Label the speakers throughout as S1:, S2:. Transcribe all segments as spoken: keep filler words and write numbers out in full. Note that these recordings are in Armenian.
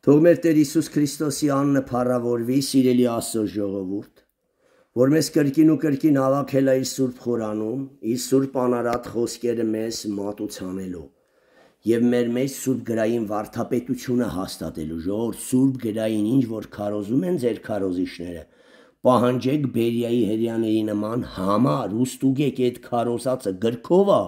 S1: Թող մեր Տեր Հիսուս Քրիստոսի անունը փառավորվի, սիրելի Աստծո ժողովուրդ, որ մեզ կրկին ու կրկին հավաքել է իր Սուրբ Խորանում, իր Սուրբ անարատ խոսքերը մեզ մատուցանելու եւ մեր մեջ Սուրբ գրային վարդապետությունը հաստատելու։ Ժողովուրդ, Սուրբ գրային ինչ որ քարոզում են ձեր քարոզիչները, պահանջեք Բերիայի հերյաների նման համար ու ստուգեք այդ քարոզածը գրքով է,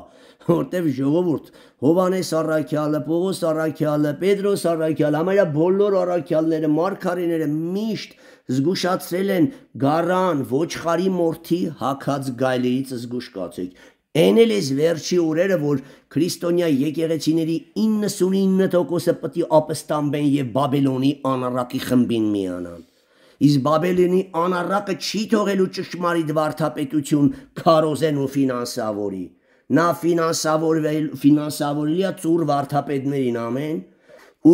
S1: որտեվ ժողովուրդ Հովանես առաքյալը, Պողոս առաքյալը, Պետրոս առաքյալը, համարյա բոլոր առաքյալները, մարգարեները միշտ զգուշացրել են գառան, ոչխարի մորթի հագած գայլերից զգուշ կացեք։ Այն էլ էս վերջի օրերը, որ քրիստոնյա եկեղեցիների իննսունինը տոկոսը պիտի ապստամբեն եւ Բաբելոնի անառակի խմբին միանան։ Իսկ Բաբելոնի անառակը չի թողելու ճշմարիտ վարդապետություն քարոզեն ու ֆինանսավորի։ Նա ֆինանսավորվել ֆինանսավորիլիա ծուր վարդապետներին, ամեն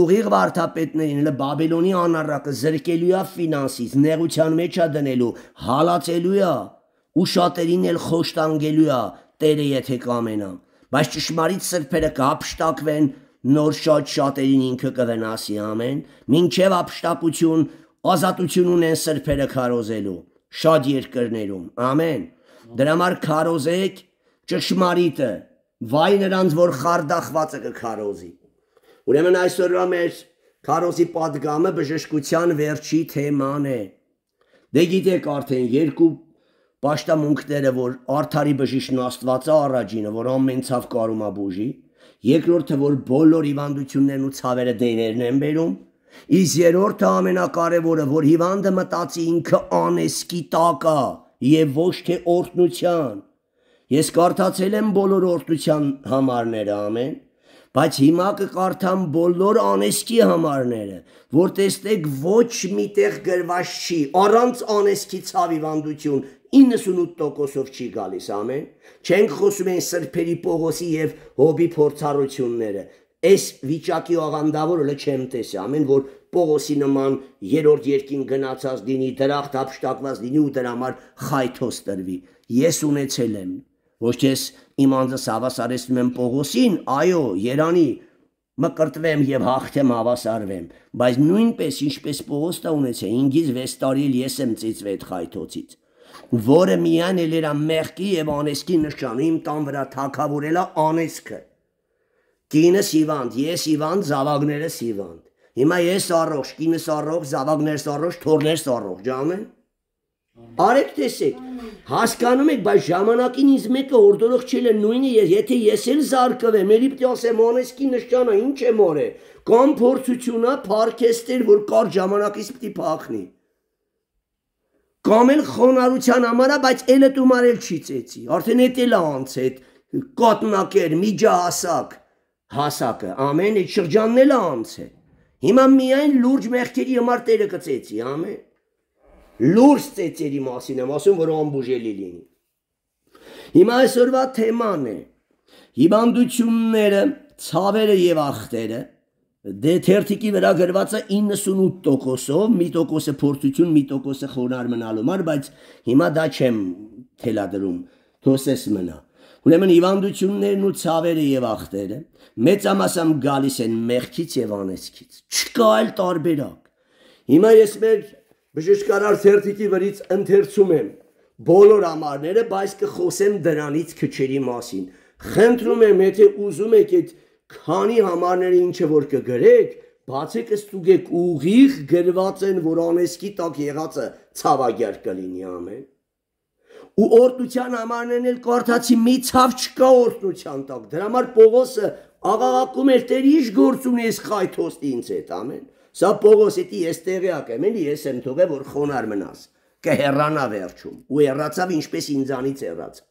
S1: ուղիղ վարդապետներին, elə Բաբելոնի անառակը զրկելու է ֆինանսից, նեղության մեջ է դնելու, հալածելու է ու շատերին էլ խոշտանգելու է Տերը եթե կամենա, բայց ճշմարիտ սրբերը կհափշտակվեն, նոր շատ շատերին ինքը կվնասի, ամեն, մինչև հափշտակություն, ազատություն ունեն սրբերը քարոզելու շատ երկրներում, ամեն։ Դրա համար քարոզեք ճշմարիտը, վայ նրանց, որ խարդախվածը կքարոզի։ Ուրեմն այսօրվա մեր քարոզի պատգամը բժշկության վերջի թեման է։ Դե գիտեք արդեն երկու պաշտամունքները, որ արդարի բժիշկն Աստվածը առաջինը, որ ամեն ցավ կարում է բուժի, երկրորդը, որ բոլոր հիվանդություններն ու ցավերը դերերն են բերում, իսկ երրորդը ամենակարևորը, որ հիվանդը մտածի ինքը անեսքի տակ է եւ ոչ թե օրհնության։ Ես կարդացել եմ բոլոր օրհնության համարները, ամեն, բայց հիմա կկարդամ բոլոր անեսքի համարները, որ տեսնեք ոչ միտեղ գրված չի, առանց անեսքի ցավ հիվանդություն իննսունութ տոկոսով չի գալիս, ամեն։ Չենք խոսում են սրբերի Պողոսի եւ Հոբի փորձառությունները։ Այս վիճակի աղանդավորը չեմ տեսի, ամեն, որ Պողոսի նման երրորդ երկին գնացած լինի, դրախտ հափշտակված լինի ու դրա համար խայթոս տրվի։ Ես ունեցել եմ, ոչ թե իմ անձս հավասարեցնում եմ Պողոսին, այո, երանի մկրտվեմ եւ հաղթեմ հավասարվեմ, բայց նույնպես ինչպես Պողոսը ունեցել, ինքից վեց տարի էլ ես եմ ծիծվել այդ խայթոցից, որը միայն էլ էր մեղքի եւ անեսքի նշանը, իմ տան վրա թակավորել է անեսքը։ Կինս հիվանդ, ես հիվանդ, զավակներս հիվանդ։ Հիմա ես առողջ, կինս առողջ, զավակներս առողջ, թորներս առողջ, ամեն։ Արեք տեսեք, հասկանում եք, բայց ժամանակին ինձ մեկը օրդորողջել է նույնը, եթե ես էլ զարկվեմ, էլի պիտի ասեմ անեսքի նշանը ինչ է մորե, կամ փորձությունա, փառքեստեր, որ կար ժամանակից պիտի փախնի։ Կամ էլ խոնարհության համար, բայց էլը տումարել չի ծեցի, արդեն էդ էլ անցել, կատնակեր, միջահասակ, հասակը, ամեն, այդ շրջանն էլ անցել։ Հիմա միայն լուրջ մեղքերի համար Տերը կծեցի, ամեն։ Լուրջ ծեծերի մասին եմ ասում, որ անբուժելի լինի։ Հիմա այսօրվա թեման է հիվանդությունները, ցավերը եւ ախտերը։ Դե թերթիկի վրա գրված է իննսունութ տոկոսով, մի տոկոսը փորձություն, մի տոկոսը խոնարհ մնալու համար, բայց հիմա դա չեմ թելադրում, թոսես մնա։ Ուրեմն հիվանդություններն ու ցավերը եւ ախտերը մեծամասամբ գալիս են մեղքից եւ անեծքից։ Չկա այլ տարբերակ։ Հիմա ես մեր բժշկարար թերթիկի վրից ընթերցում եմ բոլոր համարները, բայց կխոսեմ դրանից քչերի մասին։ Խնդրում եմ, եթե ուզում եք այդ քանի համարները ինչը որ կգրեք, բացեք ստուգեք ուղիղ գրված են, որ անեսքի տակ եղածը ցավագեր կլինի, ամեն։ Ու օրհնության համարներն էլ կարդացի, մի ցավ չկա օրհնության տակ։ Դրա համար Պողոսը աղաղակում էր, Տեր ինչ գործ ունի ես խայթոստի ինձ հետ, ամեն։ Սա Պողոսի ես տեղյակ եմ, էլի ես եմ թողել, որ խոնարհ մնաս, կհեռանա վերջում, ու հեռացավ ինչպես ինձանից հեռացավ։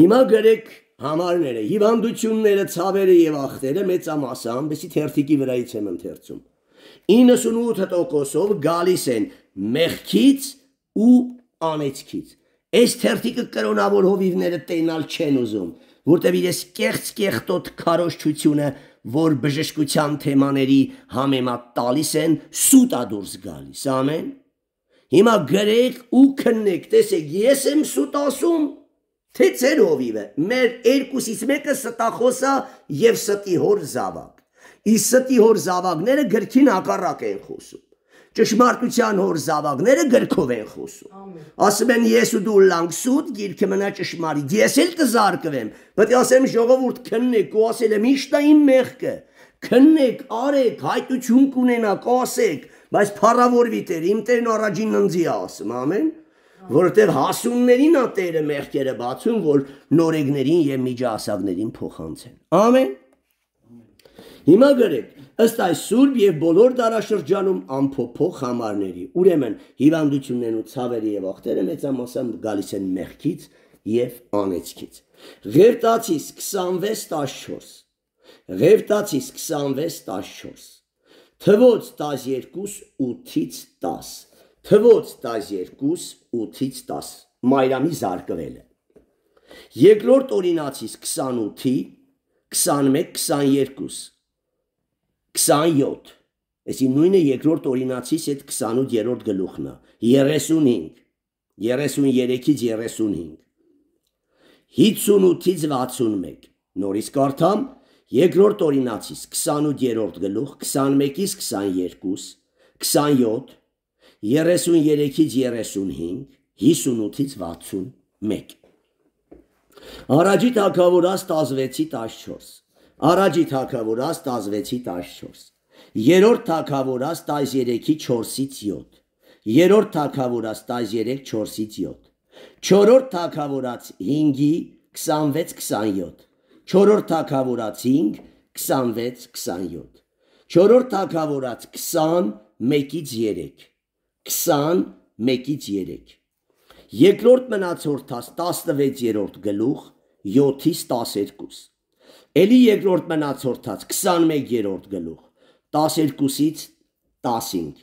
S1: Հիմա գրեք համարները, հիվանդությունները, ցավերը եւ ախտերը մեծամասամբ, էսի թերթիկի վրայից եմ ընթերցում, իննսունութ տոկոսով գալիս են մեղքից ու անեծքից։ Այս թերթիկը կրոնավոր հովիվները տենալ չեն ուզում, որտեղ իրես կեղծ կեղտոտ քարոզչությունը, որ բժշկության թեմաների համեմատ տալիս են, սուտ է դուրս գալիս, ամեն։ Հիմա գրեք ու քննեք, տեսեք, ես եմ սուտ ասում, թե ձեր հովիվը, մեր երկուսից մեկը ստախոս է եւ ստի հոր զավակ։ Իսկ ստի հոր զավակները գրքին հակառակ են խոսում։ Ճշմարտության հոր զավակները գրքով են խոսում։ Ասում են ես ու դու լանք սուտ, գիրքը մնա ճշմարիտ։ Ես էլ կզարկվեմ, բայց ասեմ ժողովուրդ քննեք, ու ասել եմ ի՞նչն է իմ մեղքը։ Քննեք, արեք, հայտություն կունենաք, ասեք, բայց փառավորվի Տեր, իմ Տերն առաջին ընձի ասում, ամեն, որովհետև հասուններին է Տերը մեղքերը բացում, որ նորեկներին եւ միջահասակներին փոխանցեն։ Ամեն։ Հիմա գրեք, ըստ այս սուրբ եւ բոլոր դարաշրջանում ամփոփող համարների, ուրեմն հիվանդություններն ու ցավերը եւ ախտերը մեծամասամբ գալիս են մեղքից եւ անեծքից։ Ղևտացիս քսանվեց տասնչորս, Ղևտացիս քսանվեց տասնչորս, Թվոց տասներկու ութից տաս, Թվոց տասներկու ութից տաս, Մայրամի զարկվելը։ Երկրորդ օրինացիս քսանութի, քսանմեկ, քսաներկու, քսանյոթ, այսի նույնը երկրորդ օրինացիս հետ քսանութերորդ գլուխն է, երեսունհինգ, երեսունյերեքից երեսունհինգ, հինգսունութից վաթսունմեկ, նորից կարդամ, երկրորդ օրինացիս քսանութերորդ գլուխ, քսանմեկից քսաներկու, քսանյոթ, երեսունյերեքից երեսունհինգ, հինգսունութից վաթսունմեկ։ Առաջի թագավորաց տասնվեցի տասնչորս, Առաջի թագավորաց տասնվեցի տասնչորս, Երրորդ թագավորաց տասներեքի չորսից յոթ, Երրորդ թագավորաց տասներեք չորսից յոթ, Չորրորդ թագավորաց հինգի քսանվեց քսանյոթ, Չորրորդ թագավորաց հինգ քսանվեց քսանյոթ, Չորրորդ թագավորաց քսան մեկից երեք, քսան մեկից երեք, Երկրորդ մնացորդաց տասնվեցերորդ գլուխ, յոթից տասներկու, Էլի երկրորդ մնացորդաց քսանմեկերորդ գլուխ, տասներկուսից տասնհինգ,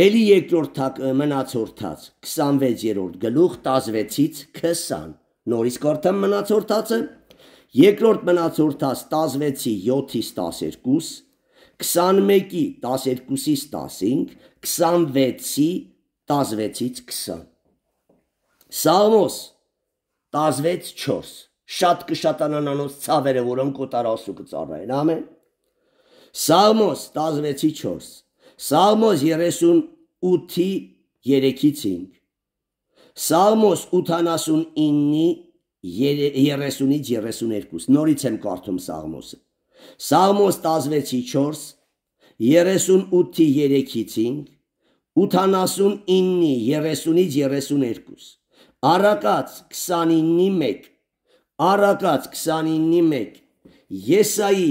S1: Էլի երկրորդ մնացորդաց քսանվեցերորդ գլուխ, տասնվեցից քսան, նորից կարդամ մնացորդածը, Երկրորդ մնացորդաց տասնվեցի յոթից տասներկու, քսանմեկի տասներկուսից տասնհինգ, քսանվեցի տասնվեցից քսան, Սաղմոս տասնվեց չորս, շատ կշատանան անոնց ցավերը, որոնք օտար Աստծու կծառայեն, ամեն։ Սաղմոս տասնվեցի չորս, Սաղմոս երեսունութի երեքից հինգ, Սաղմոս ութանասունինի երեսունից երեսուներկու, նորից եմ կարդում Սաղմոսը, Սաղմոս տասնվեցի չորս, երեսունութի երեքից հինգ, ութանասունինի երեսունից երեսուներկու, Առակաց քսանինի մեկ, Առակաց քսանինի մեկ, Եսայի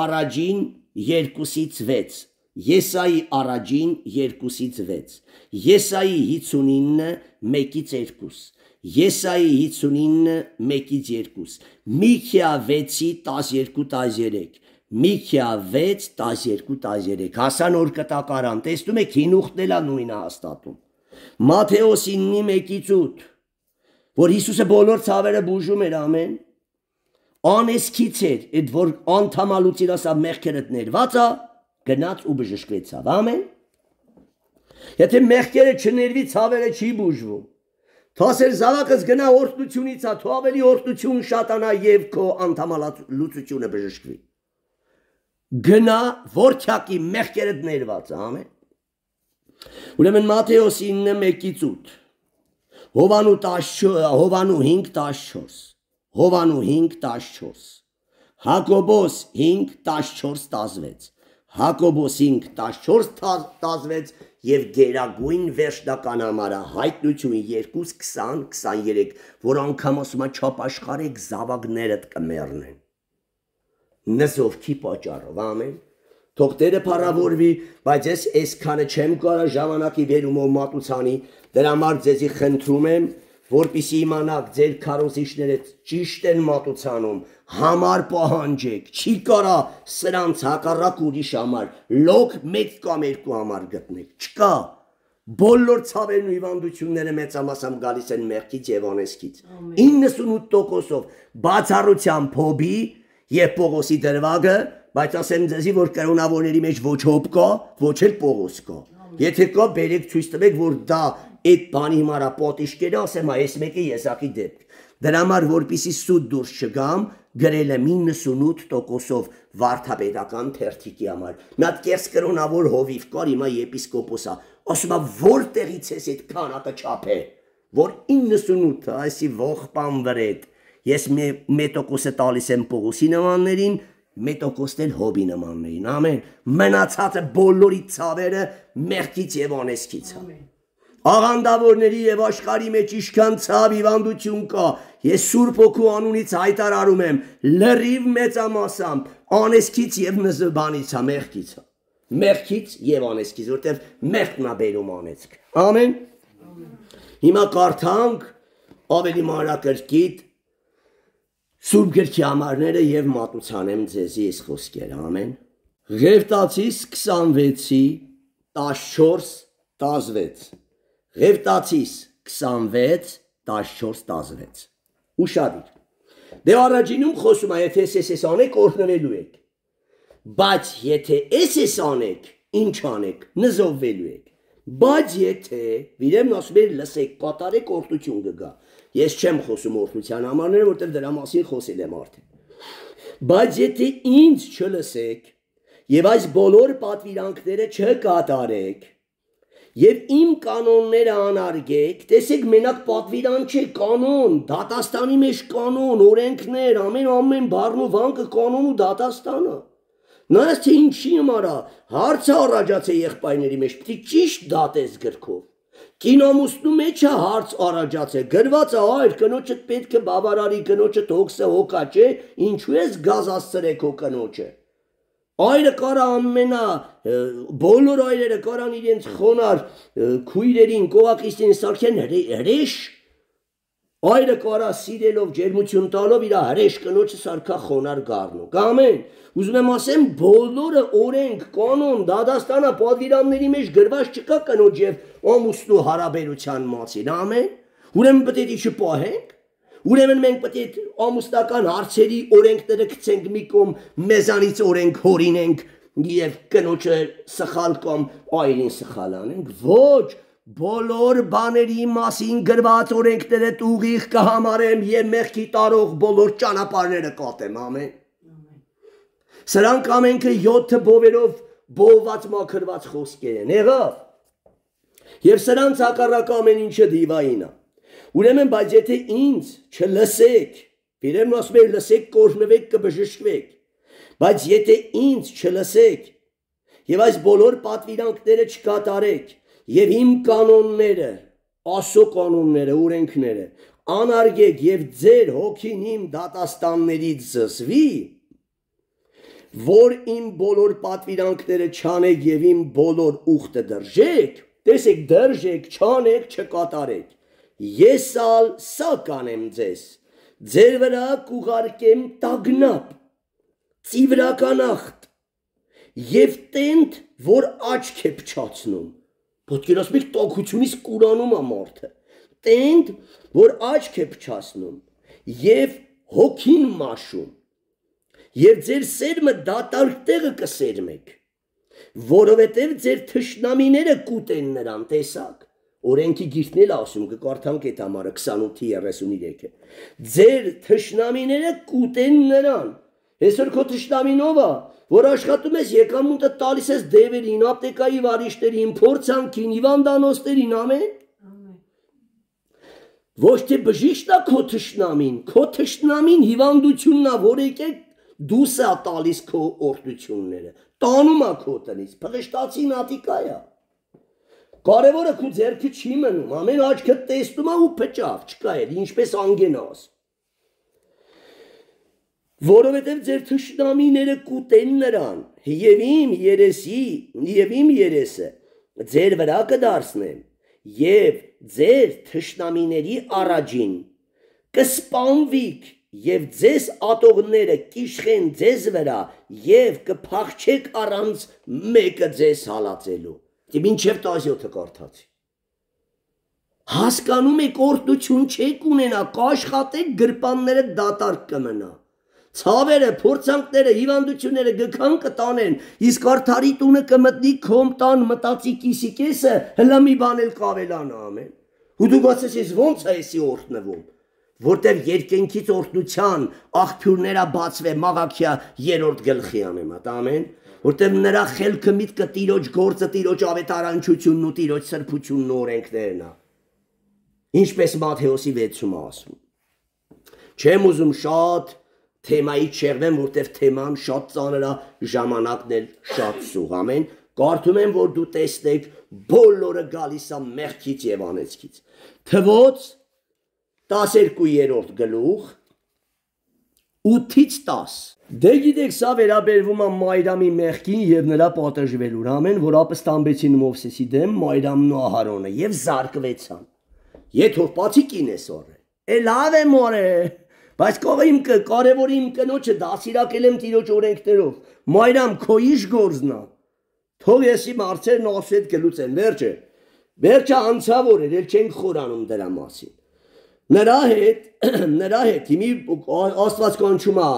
S1: առաջին երկուսից վեց, Եսայի առաջին երկուսից վեց, Եսայի հինգսունինը մեկից երկուս, Եսայի հինգսունինը մեկից երկուս, Միքիա վեցի տասներկու տասներեք, Միքիա վեց տասներկու տասներեք, հասան օր կտակարան, տեսնում եք հինուխտն էլ է նույնը հաստատում, Մատթեոս իննի մեկից ութ, որ Հիսուսը բոլոր ցավերը բուժում էր, ամեն, անեսքից էր, այդ որ անդամալուծիր ասա մեղքերդ ներված է, գնաց ու բժշկվեցավ, ամեն։ Եթե մեղքերը չներվի, ցավերը չի բուժվում։ Թասեր զավակս գնա օրհնությունից, թո ավելի օրհնություն շատանա եւ քո անդամալուծությունը բժշկվի։ Գնա որքյակի մեղքերդ ներված է, ամեն։ Ուրեմն Մատթեոս ինը մեկից ութ, Հովանու Հովանու հինգ տասնչորս, Հովանու հինգ տասնչորս, Հակոբոս հինգ տասնչորս տասնվեց, Հակոբոս հինգ տասնչորս տասնվեց եւ գերագույն վերջնական համարը հայտնություն երկու քսան քսաներեք, որ անգամ ասում է չապաշխարեք զավակներդ կմեռնեն։ Նզովքի պատճառով, ամեն։ Թող Տերը փառավորվի, բայց ես այսքանը չեմ կարա ժամանակի վերումով մատուցանի, դրա համար ձեզի խնդրում եմ, որպեսզի իմանաք ձեր քարոզիչները ճիշտ են մատուցանում, համար պահանջեք, չի կարա սրանց հակառակ ուրիշ համար, լոկ մեկ կամ երկու համար գտնեք, չկա, բոլոր ցավերն ու հիվանդությունները մեծամասամբ գալիս են մեղքից եւ անեծքից, իննսունութ տոկոսով բացառությամբ Հոբի եւ Պողոսի դրվագը, բայց ասեմ ձեզի, որ կրոնավորների մեջ ոչ Հոբ կա, ոչ էլ Պողոս կա, եթե կա բերեք ցույց տվեք, որ դա այդ բանի հիմարա պատիշկերը ասեմ այս մեկը եսակի դեպք, Դրա համար որպեսզի սուտ դուրս չգամ, գրել եմ իննսունութ տոկոսով վարդապետական թերթիկի համար։ Մի հատ կես կրոնավոր հովիվ կար հիմա եպիսկոպոսա, ասում է որտեղից ես այդ քանակը չափել, որ իննսունութը այսի ողբան վրետ։ Ես մի տոկոսը տալիս եմ Պողոսի նմաններին, մի տոկոսն էլ հոբի նմաններին, ամեն։ Մնացածը բոլորի ցավերը մեղքից եւ անեծքից է։ Աղանդավորների եւ աշխարհի մեջ ինչքան ցավ հիվանդություն կա, ես Սուրբ Հոգու անունից հայտարարում եմ, լրիվ մեծամասամբ անեծքից եւ նզբանից է, մեղքից է։ Մեղքից եւ անեծքից, որտեւ մեղքն է բերում անեծք։ Ամեն։ Հիմա կարդանք ավելի մանրակրկիտ Սուրբ գրքի համարները եւ մատուցանեմ ձեզի այս խոսքերը, ամեն։ Ղևտացիս քսանվեցի տասնչորս տասնվեց։ Ղևտացիս քսանվեց տասնչորս տասնվեց։ Ուշադիր։ Դե առաջինում խոսում է, եթե ես ես անեք, օրհնվելու եք։ Բայց եթե ես ես անեք, ինչ անեք, նզովվելու եք։ Բայց եթե, վիրեմն ասում էր, լսեք, կատարեք, օրհնություն կգա։ Ես չեմ խոսում օրհնության համարները, որտեղ դրա մասին խոսել եմ արդեն։ Բայց եթե ինձ չլսեք եւ այս բոլոր պատվիրանքները չկատարեք եւ իմ կանոնները անարգեք, տեսեք, մենակ պատվիրան չէ, կանոն, դատաստանի մեջ կանոն, օրենքներ, ամեն ամեն բառն ու վանկը կանոն ու դատաստանը։ Նայած թե ինչի համար հարցը առաջացե եղբայրների մեջ, պիտի ճիշտ դատես գրքով։ Կինոմուսնու մեջ է հարց առաջացե, գրված է այր, կնոջդ պետք է բավարարի, կնոջդ հոգսը հոգա չէ, ինչու ես գազ ասցրեք հո կնոջը։ Այրը կարա ամենա, բոլոր այրերը կարան իրենց խոնար քույրերին, կողակիցներին սարքեն հրեշ, այրը կարա սիրելով ջերմություն տալով իր հրեշ կնոջը սարքա խոնար գառնու։ Ամեն։ Ուզում եմ ասեմ, բոլորը օրենք, կանոն, դատաստանը պատվիրանների մեջ գրված չկա կնոջ եւ ամուսնու հարաբերության մասին, ամեն։ Ուրեմն պետք է չպահենք։ Ուրեմն մենք պետք է ամուսնական հարցերի օրենքները գցենք մի կողմ, մեզանից օրենք հորինենք եւ կնոջը սխալ կամ այրին սխալ անենք։ Ոչ, բոլոր բաների մասին գրված օրենքները ուղիղ կհամարեմ եւ մեղքի տարող բոլոր ճանապարհները կատեմ, ամեն։ Սրանք ամենքը յոթ բովերով բովված մաքրված խոսքեր են, եղավ։ Եվ սրանց հակառակ ամեն ինչը դիվային է։ Ուրեմն, բայց եթե ինձ չլսեք, Բերեմն ասում է լսեք, կօրհնվեք, կբժշկվեք, բայց եթե ինձ չլսեք եւ այս բոլոր պատվիրանքները չկատարեք եւ իմ կանոնները, Աստծո կանոնները, օրենքները անարգեք եւ ձեր հոգին իմ դատաստաններից զսվի, որ իմ բոլոր պատվիրանքները չանեք եւ իմ բոլոր ուխտը դրժեք, տեսեք, դրժեք, չանեք, չկատարեք, ես ալ սա կանեմ ձեզ, ձեր վրա կուղարկեմ տագնապ, ծիվրականախտ եւ տենդ, որ աչք է փչացնում, ոտքեր ասում եք տաքությունից կուրանում է մարդը, տենդ, որ աչք է փչացնում եւ հոգին մաշում, եւ ձեր սերմը դատարկ տեղը կսերմեք, որովհետեւ ձեր թշնամիները կուտեն նրան, տեսակ, օրենքի գիրքն էլ ասում, կկարդանք այդ համարը քսանութ երեսուններեքը, ձեր թշնամիները կուտեն նրան, այսօր քո թշնամին ով է, որ աշխատում ես եկամուտը տալիս ես դևերին, ապտեկայի վարիշտերին, փորձանքին, հիվանդանոցներին, ամեն, ոչ թե բժիշկն է քո թշնամին, քո թշնամին հիվանդությունն է, որ եկեք դուս է տալիս քո օրհնությունները, տանում է քո տնից, փղշտացի նատիկա է, կարևորը քո ձեռքը չի մնում, ամեն աչքը տեսնում է ու փճավ, չկա էլ, ինչպես անգենաս, որովհետև ձեր թշնամիները կուտեն նրան, և իմ երեսի, և իմ երեսը ձեր վրա կդարձնեմ, և ձեր թշնամիների առաջին կսպանվիք, և ձեզ ատողները կիշխեն ձեզ վրա, և կփախչեք առանց մեկը ձեզ հալածելու, և ինչև տասյոթը կարդացի, հասկանում եք օրհնություն չեք ունենա, կաշխատեք գրպանները դատարկ կմնա, ցավերը, փորձանքները, հիվանդությունները գքան կտանեն, իսկ արդարի տունը կմտնի քոմ տան մտածի կիսի կեսը, հլա մի բան էլ կավելանա, ամեն, ու դու բացես ես ոնց է եսի օրհնվում, որտև երկենքից օրհնության աղբյուրները բացվե Մաղաքիա երրորդ գլխի անեմատ, ամեն, որտև նրա խելքը միտքը Տիրոջ գործը, Տիրոջ ավետարանչությունն ու Տիրոջ սրբությունն ու օրենքներն է։ Ինչպես Մատթեոսի վեցում ասում։ Չեմ ուզում շատ թեմայից շեղվեմ, որտև թեման շատ ծանր է, ժամանակն էլ շատ սուղ, ամեն, կարդում եմ, որ դու տեսնեք բոլորը գալիս է մեղքից եւ անեծքից։ Թվոց տասներկուերորդ գլուխ ութից տաս։ Դե գիտեք, սա վերաբերվում է Մայրամի մեղքին եւ նրա պատժվելուն, ամեն, որ ապստամբեցին Մովսեսի դեմ Մայրամն ու Ահարոնը եւ զարկվեցան։ Եթե բացի կինես օրը, է լավ է մորե, բայց կողը իմ կարևորի իմ կնոջը դասիրակել եմ Տիրոջ օրենքներով, Մայրամ քո իշ գործնա, թող ես իմ հարցերն ասու հետ գլուծեմ, վերջը, վերջը անցավոր էր, էլ չենք խորանում դրա մասին։ Նրա հետ, նրա հետ հիմի Աստված կանչում է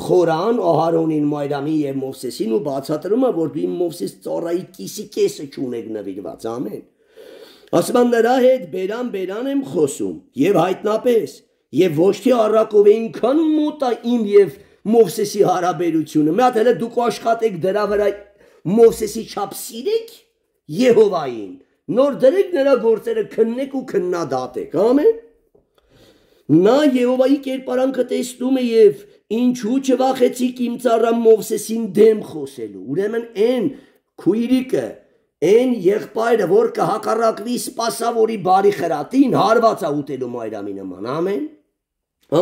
S1: խորան Ահարոնին, Մայրամին եւ Մովսեսին ու բացատրում է, որ դու իմ Մովսես ծառայի կիսի կեսը չունեք նվիրված, ամեն։ Ասում եմ նրա հետ բերան բերան եմ խոսում եւ հայտնապես եւ ոչ թե առակով այնքան մոտ է իմ եւ Մովսեսի հարաբերությունը։ Մի հատ հələ դուք աշխատեք դրա վրա Մովսեսի չափ սիրեք Եհովային, նոր դրեք նրա գործերը քննեք ու քննադատեք, ամեն։ Նա Եհովայի կերպարանքը տեսնում է եւ ինչու չվախեցիք իմ ծառա Մովսեսին դեմ խոսելու։ Ուրեմն այն քույրիկը, այն եղբայրը, որ կհակառակվի սպասավորի բարի խրատին, հարված է ուտելու Մայրամի նման, ամեն։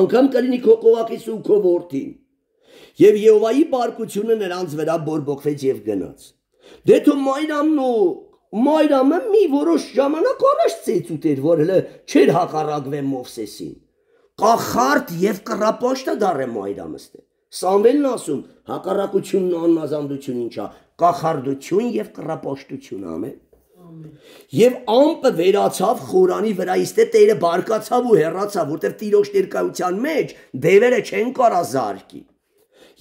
S1: Անգամ կլինի քո կողակից ու քո որդին։ Եվ Եհովայի բարկությունը նրանց վրա բորբոքվեց եւ գնաց։ Դե թո Մայրամն ու Մայրամը մի որոշ ժամանակ առաջ ծեծ ուտեր, որ հələ չէր հակառակվե Մովսեսին։ Կախարդ եւ կռապաշտը դառե Մայրամըստե։ Սամվելն ասում, հակառակությունն ու աննազանդություն ինչա, կախարդություն եւ կռապաշտություն, ամեն։ Եվ ամպը վերացավ խորանի վրա, իստե Տերը բարկացավ ու հեռացավ, որտեղ Տիրոջ ներկայության մեջ դևերը չեն կարա զարկի։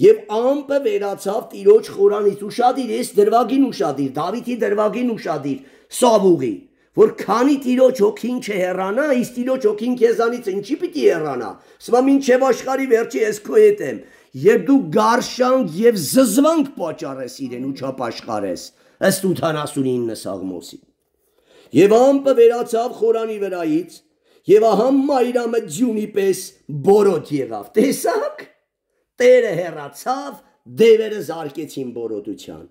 S1: Եվ ամպը վերացավ Տիրոջ խորանից, ուշադիր, ես դրվագին ուշադիր, Դավիթի դրվագին ուշադիր, Սավուղի, որ քանի Տիրոջ հոգին չհեռանա, իսկ Տիրոջ հոգին քեզանից ինչի պիտի հեռանա։ Սա մինչև աշխարհի վերջի ես քո հետ եմ, եւ դու գարշանք եւ զզվանք պատճառես իրեն ու չապաշխարես, ըստ ութանասունինը Սաղմոսի։ Եվ ամպը վերացավ խորանի վրայից, եւ ահա Մայրամը ձյունի պես բորոտ եղավ։ Տեսաք։ Տերը հեռացավ, դևերը զարկեցին բորոտության։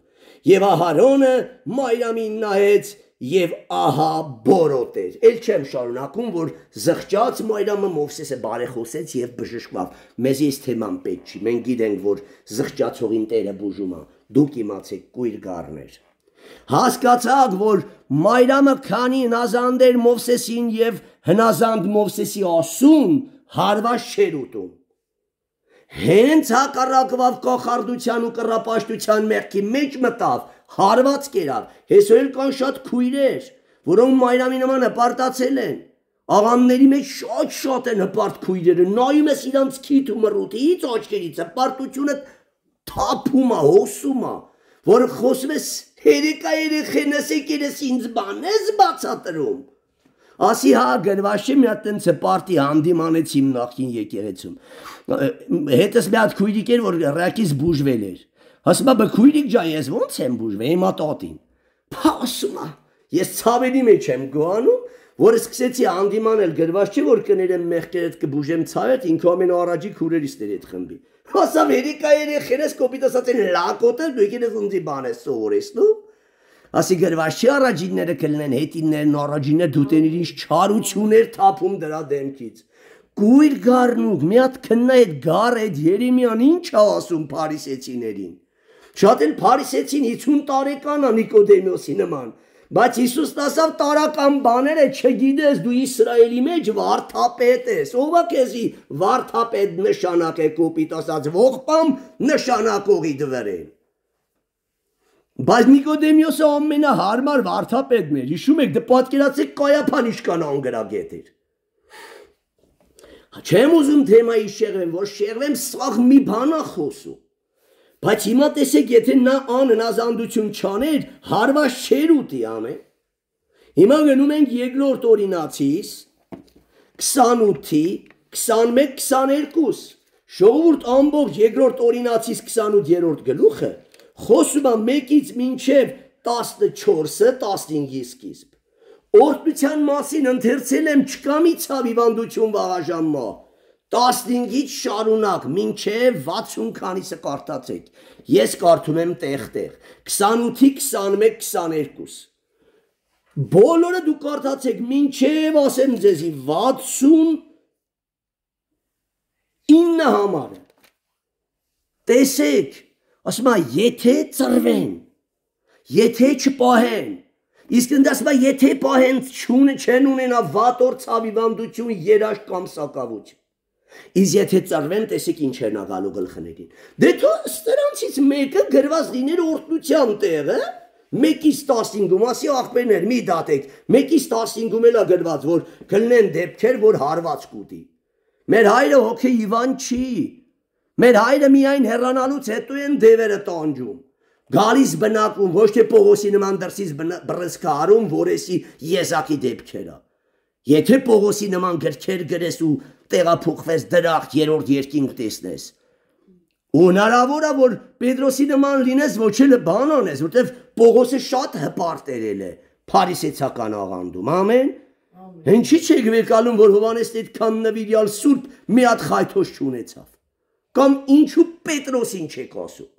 S1: Եվ Ահարոնը Մայրամին նայեց եւ ահա բորոտ էր։ Էլ չեմ շարունակում, որ զղջաց Մայրամը Մովսեսը բարեխոսեց եւ բժշկավ։ Մեզ այս թեման պետք չի։ Մենք գիտենք, որ զղջացողին Տերը բուժում է։ Դուք իմացեք, կույր գառներ։ Հասկացաք, որ Մայրամը քանի հնազանդ էր Մովսեսին եւ հնազանդ Մովսեսի ասում հարված չէր ուտում։ Հենց հակառակվավ կախարդության ու կռապաշտության մեղքի մեջ մտավ, հարված կերավ, հեսօր կան շատ քույրեր, որոնք Մայրամի նման հպարտացել են, աղանների մեջ շատ շատ են հպարտ քույրերը, նայում ես իրանց քիթ ու մռութից աչքերից, հպարտությունը թափում է, հոսում է, որ խոսում ես հերեկա երեխեն ես եկել ես ինձ բան ես բացատրում։ Ասի հա գրված չէ մի հատ տենց պարտի հանդիմանեց իմ նախին եկեղեցում։ Հետս մի հատ քույրիկ էր, որ ռակից բուժվել էր։ Ասում է քույրիկ ջան, ես ո՞նց եմ բուժվել, հիմա տատին։ Փասում է։ Ես ցավերի մեջ եմ գոանում, որ սկսեցի հանդիմանել գրված չէ, որ կներեմ մեղքերդ կբուժեմ ցավդ, ինքը ամենաառաջի քուրերից էր այդ խմբի։ Ասամ երիկա երեխերս կոպիտ ասած են լակոտը, դու եկել ես ունձի բան ես սովորեցնում։ Ասի գրված չի առաջինները կլինեն հետիններն առաջինը դուտեներ ինչ չարություններ թափում դրա դեմքից։ Կույր գառնուկ, մի հատ քննա այդ գառ այդ Երեմիան ինչ է ասում փարիսեցիներին։ Շատ էլ փարիսեցին հիսուն տարեկան է Նիկոդեմոսի նման, բայց Հիսուսն ասավ տարական բաները չգիտես, դու Իսրայելի մեջ վարդապետ ես, ով է քեզի վարդապետ նշանակե կոպիտ ասած ողբամ նշանակողի դվերեն։ Բայց Նիկոդեմոսը ամենահարմար վարդապետն էր, հիշում եք, դե պատկերացեք Կայափան ինչքան անգրագետ էր։ Չեմ ուզում թեմայի շեղվեմ, որ շեղվեմ սաղ մի բան է խոսում։ Բայց հիմա տեսեք, եթե նա անհնազանդություն չաներ, հարված չէր ուտի ամեն։ Հիմա գնում ենք երկրորդ օրինացիս, քսանութի քսանմեկ քսաներկու ժողովուրդ ամբողջ երկրորդ օրինացից քսանութերորդ գլուխը խոսում է մեկից մինչև տասնչորսը տասնհինգի սկիզբ օրհնության մասին ընթերցել եմ չկա մի ցավ հիվանդություն վաղաժամմա տասնհինգից շարունակ մինչև վաթսուն քանիսը կարդացեք ես կարդում եմ տեղ-տեղ քսանութի քսանմեկ քսաներկու բոլորը դու կարդացեք մինչև ասեմ ձեզի վաթսուն ինը համարը տեսեք ասում է եթե ծրվեն եթե չպահեն իսկ ընդ ասում է եթե պահեն չունը չեն ունենա վատ օր ցավիվանդություն երաշտ կամ սակավություն իսկ եթե ծրվեն տեսեք ինչ են աղալու գլխներին դե թո սրանցից մեկը գրված լիներ օրհնության տեղը մեկից տասնհինգում ասի աղբերներ մի դատեք մեկից տասնհինգում էլա գրված որ գլնեն դեպքեր որ հարված կուտի մեր հայրը հոգի հիվանդ չի մեր հայրը միայն հեռանալուց հետո են դևերը տանջում գալիս բնակում ոչ թե Պողոսի նման դրսից բռնցքա արում որեսի եզակի դեպքերը եթե Պողոսի նման գրքեր գրես ու տեղափոխվես դրախտ երրորդ երկինք տեսնես ու հնարավոր է որ Պետրոսի նման լինես ոչ էլ բան անես որտեվ Պողոսը շատ հպարտ է փարիսեցական աղանդում ամեն ինչի՞ չեք վեկալում որ Հովհաննեսն այդքան նվիրյալ սուրբ մի հատ խայթոս չունեցավ կամ ինչու Պետրոսին չեք ասում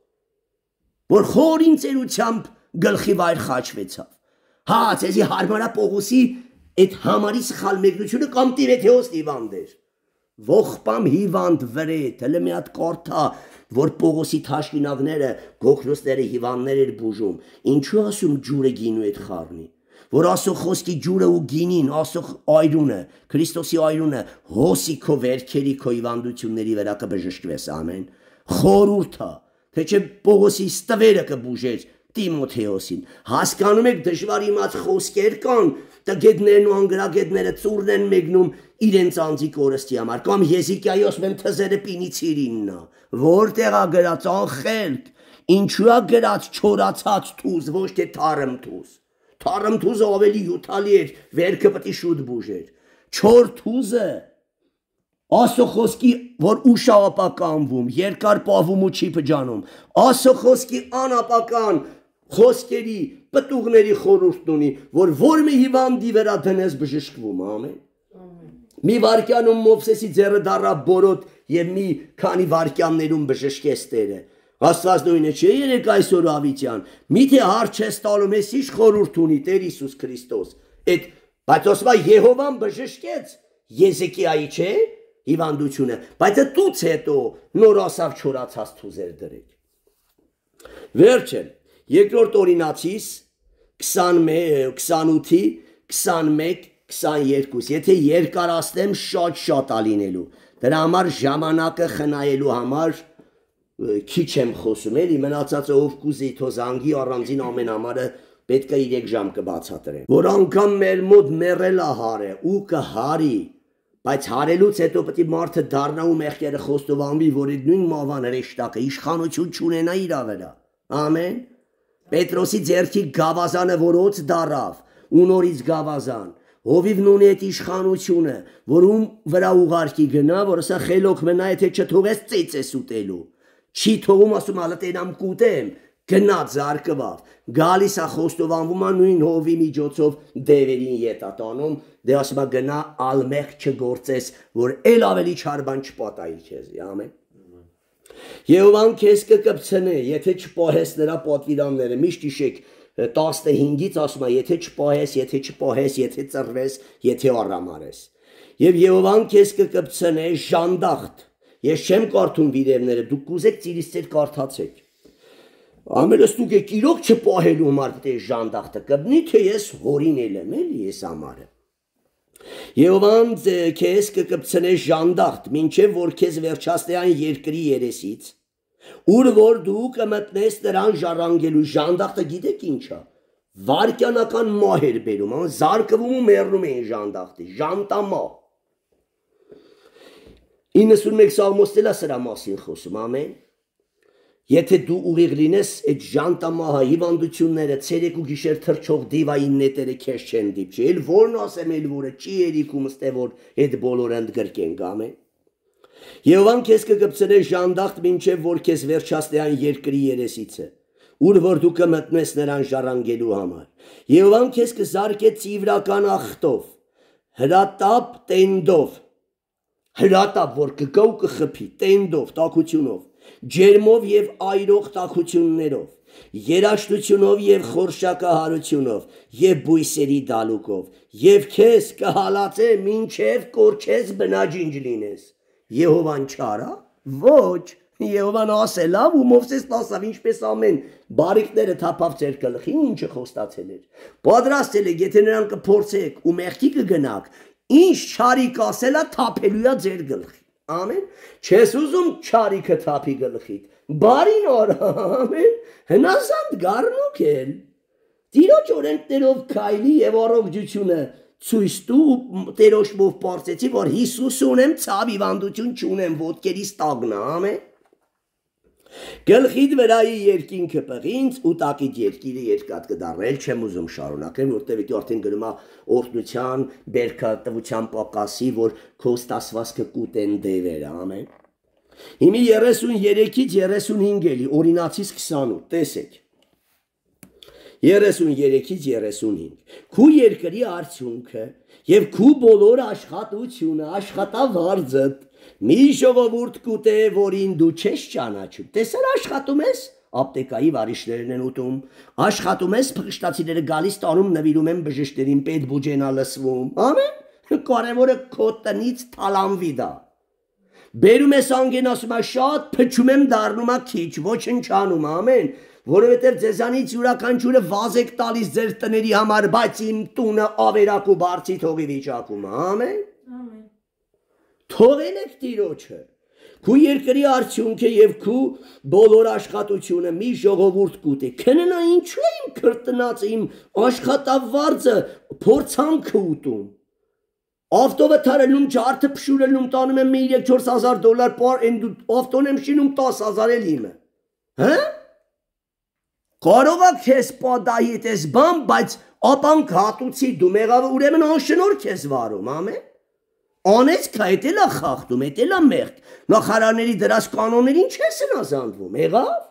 S1: որ խորին ծերությամբ գլխի վայր խաչվեցավ հա ցեզի հարմարա Պողոսի այդ համարի սխալ մեկնությունը կամ Տիմոթեոս հիվանդ էր ողբամ հիվանդ վրետ հələ մի հատ կարդա որ Պողոսի թաշկինակները գոքրոսները հիվանդներ էր բուժում ինչու ասում ջուրը գինու այդ խառնի որ ասո խոսքի ջուրը ու գինին ասո այրունը Քրիստոսի այրունը հոսիքո վերքերի քո հիվանդությունների վրա կբժշկվես ամեն խորուրդա թե չէ Պողոսի ստվերը կբուժեր Տիմոթեոսին հասկանում եք դժվար իմաց խոսքեր կան տգետներն ու անգրագետները ծուրն են մեկնում իրենց անձի կորստի համար կամ Եզիկիայի ասում են թզերը պինիցիրիննա որտեղ է գրած անխելք ինչու է գրած չորացած թուզ ոչ թե թարմ թուզ թարմ թուզը ավելի հյութալի էր վերքը պետք է շուտ բուժեր չոր թուզը ասո խոսքի որ ուշ ապականվում երկար պահվում ու չի փճանում ասո խոսքի անապական խոսքերի պտուղների խորհուրդն ունի որ որ մի հիվանդի վրա դնես բժշկվում ամեն մի վարքյանում Մովսեսի ձեռը դառավ բորոտ եւ մի քանի վարքյաններում բժշկեց Տերը Աստված նույնը չէ երեք այսօր ավիտյան միթե հարց չես տալու ես ինչ խորհուրդ ունի Տեր Հիսուս Քրիստոս այդ բայց ասում է Եհովան բժշկեց Եզեկիայի չէ հիվանդությունը բայց դուց հետո նոր ասավ չորացած թուզեր դրեք վերջը երկրորդ օրինացից քսանութի քսանմեկ քսաներկու եթե երկարացնեմ շատ շատ ա լինելու դրա համար ժամանակը խնայելու համար քիչ եմ խոսում էլի մնացածը ով կուզի թո զանգի առանձին ամեն համարը պետք է երեք ժամ կբացատրեմ որ անգամ մեր մոտ մեռելա հարը ու կհարի բայց հարելուց հետո պետք է մարդը դառնա ու մեղքերը խոստովանվի որ այդ նույն մավան հրեշտակը իշխանություն չունենա իր վրա ամեն Պետրոսի ձեռքի գավազանը որոց դարավ ու նորից գավազան Հովիվն ունի այդ իշխանությունը որում վրա ուղարկի գնա որ ասա խելոք մնա եթե չթողես ծեծես ուտելու Չի թողում ասում ալը տենամ կուտեմ գնաց զարկվավ գալիս է խոստովանվում է նույն հովի միջոցով դևերին ետատանում դե ասում է գնա ալմեղ չգործես որ էլ ավելի չար բան չպատայի քեզի ամեն Եհովան քեզ կկպցնե եթե չպահես նրա պատվիրանները միշտ հիշեք տասնհինգից ասում է եթե չպահես եթե չպահես եթե ծռվես եթե առամարես եւ Եհովան քեզ կկպցնե ժանդախտ Ես չեմ կարդում վիրևները, դուք կուզեք ծիրից ծեր կարդացեք Ամենստուկ եք իրոք չպահելու համար պետք է ժանդախտը կբնի, թե ես հորինել եմ էլի ես ամարը Եհովան քեզ կկպցնե ժանդախտ, մինչև որ քեզ վերջացնի այն երկրի երեսից Ուր որ դու կմտնես նրան ժառանգելու ժանդախտը գիտեք ինչ է Վարքյանական մահ էր բերում, զարկվում ու մեռնում էին ժանդախտի, ժանտամահ իննսունմեկ սաղմոստել է սրա մասին խոսում, ամեն Եթե դու ուղիղ լինես, այդ ժանտամահա հիվանդությունները, ցերեկ ու գիշեր թրջող դիվային նետերը քեզ չեն դիպչի։ Էլ որն ասեմ, էլ որը չի երիկում ստե որ այդ բոլորը ընդգրկենք, ամեն։ Եհովան քեզ կգբցնե ժանդախտ մինչև որ քեզ վերջացնի այն երկրի երեսիցը, ուր որ դու կմտնես նրան ժառանգելու համար։ Եհովան քեզ կզարկե ծիվրական ախտով, հրատապ տենդով, հրատապ որ կգա ու կխփի, տենդով, տաքությունով, ջերմով եւ այրող տաքություններով, երաշտությունով եւ խորշակահարությունով, եւ բույսերի դալուկով, եւ քեզ կհալածե մինչև կորչես բնաջինջ լինես։ Եհովան չարա։ Ոչ, Եհովան ասել ավ ու Մովսես ասավ ինչպես ամեն բարիկները թափավ ձեր գլխին, ինչը խոստացել էր։ Պատրաստել եք, եթե նրան կփորձեք ու մեղքի կգնաք, ինչ չարիք ասելա թափելույա ձեր գլխին։ Ամեն։ Չես ուզում չարիքը թափի գլխիդ։ Բարին օր, ամեն։ Հնազանդ գառնուկ էլ։ Տիրոջ օրենքներով քայլի եւ առողջությունը ցույց տու տերոշմով պարծեցի, որ Հիսուս ունեմ, ցավ հիվանդություն չունեմ, ոտքերիս տագնա, ամեն։ Գլխիդ վրայի երկինքը պղինց ու տակիդ երկիրը երկաթ կդառնա, չեմ ուզում շարունակեմ, որտեղ դու արդեն գրում ես օրհնության, բերքատվության պակասի, որ քո ստասվածքը կուտեն դևերը, ամեն։ Հիմի երեսուններեքից երեսունհինգ էլի, օրինացից քսանութ, տեսեք։ երեսուններեքից երեսունհինգ։ Քու երկրի արդյունքը եւ քու բոլոր աշխատությունը, աշխատավարձդ մի ժողովուրդ կուտե, որին դու չես ճանաչում։ Տեսար աշխատում ես, ապտեկայի վարիշներն են ուտում, աշխատում ես, փղշտացիները գալիս տանում նվիրում են բժիշկներին, պետ բուջենա լսվում, ամեն, կարևորը քո տնից թալանվի դա։ Բերում ես անգեն ասում է շատ, փչում եմ դառնում է քիչ, ոչնչանում, ամեն, որովհետև ձեզանից յուրաքանչյուրը վազ եք տալիս ձեր տների համար, բայց իմ տունը ավերակ ու բարձի թողի վիճակում, ամեն։ Թողել եք Տիրոջը, քու երկրի արդյունքը եւ քու բոլոր աշխատությունը մի ժողովուրդ կուտե։ Քննա ինչու է իմ քրտնածը, իմ աշխատավարձը փորձանքը ուտում։ Ավտովը թարելում, ջարդը փշուրելում, տանում եմ մի երեք չորս հազար դոլար պար, են դու ավտոն եմ շինում տաս հազար էլ իմը։ Հա? Կարող եք քեզ պատահի այդպես բան, բայց ապանք հատուցի դու մեղավը ուրեմն անշնորհք ես վարում, ամեն։ Անես կա, էդ էլ է խախտում, էդ էլ է մեղք, նախարարների դրած կանոններին չես հնազանդվում, եղավ։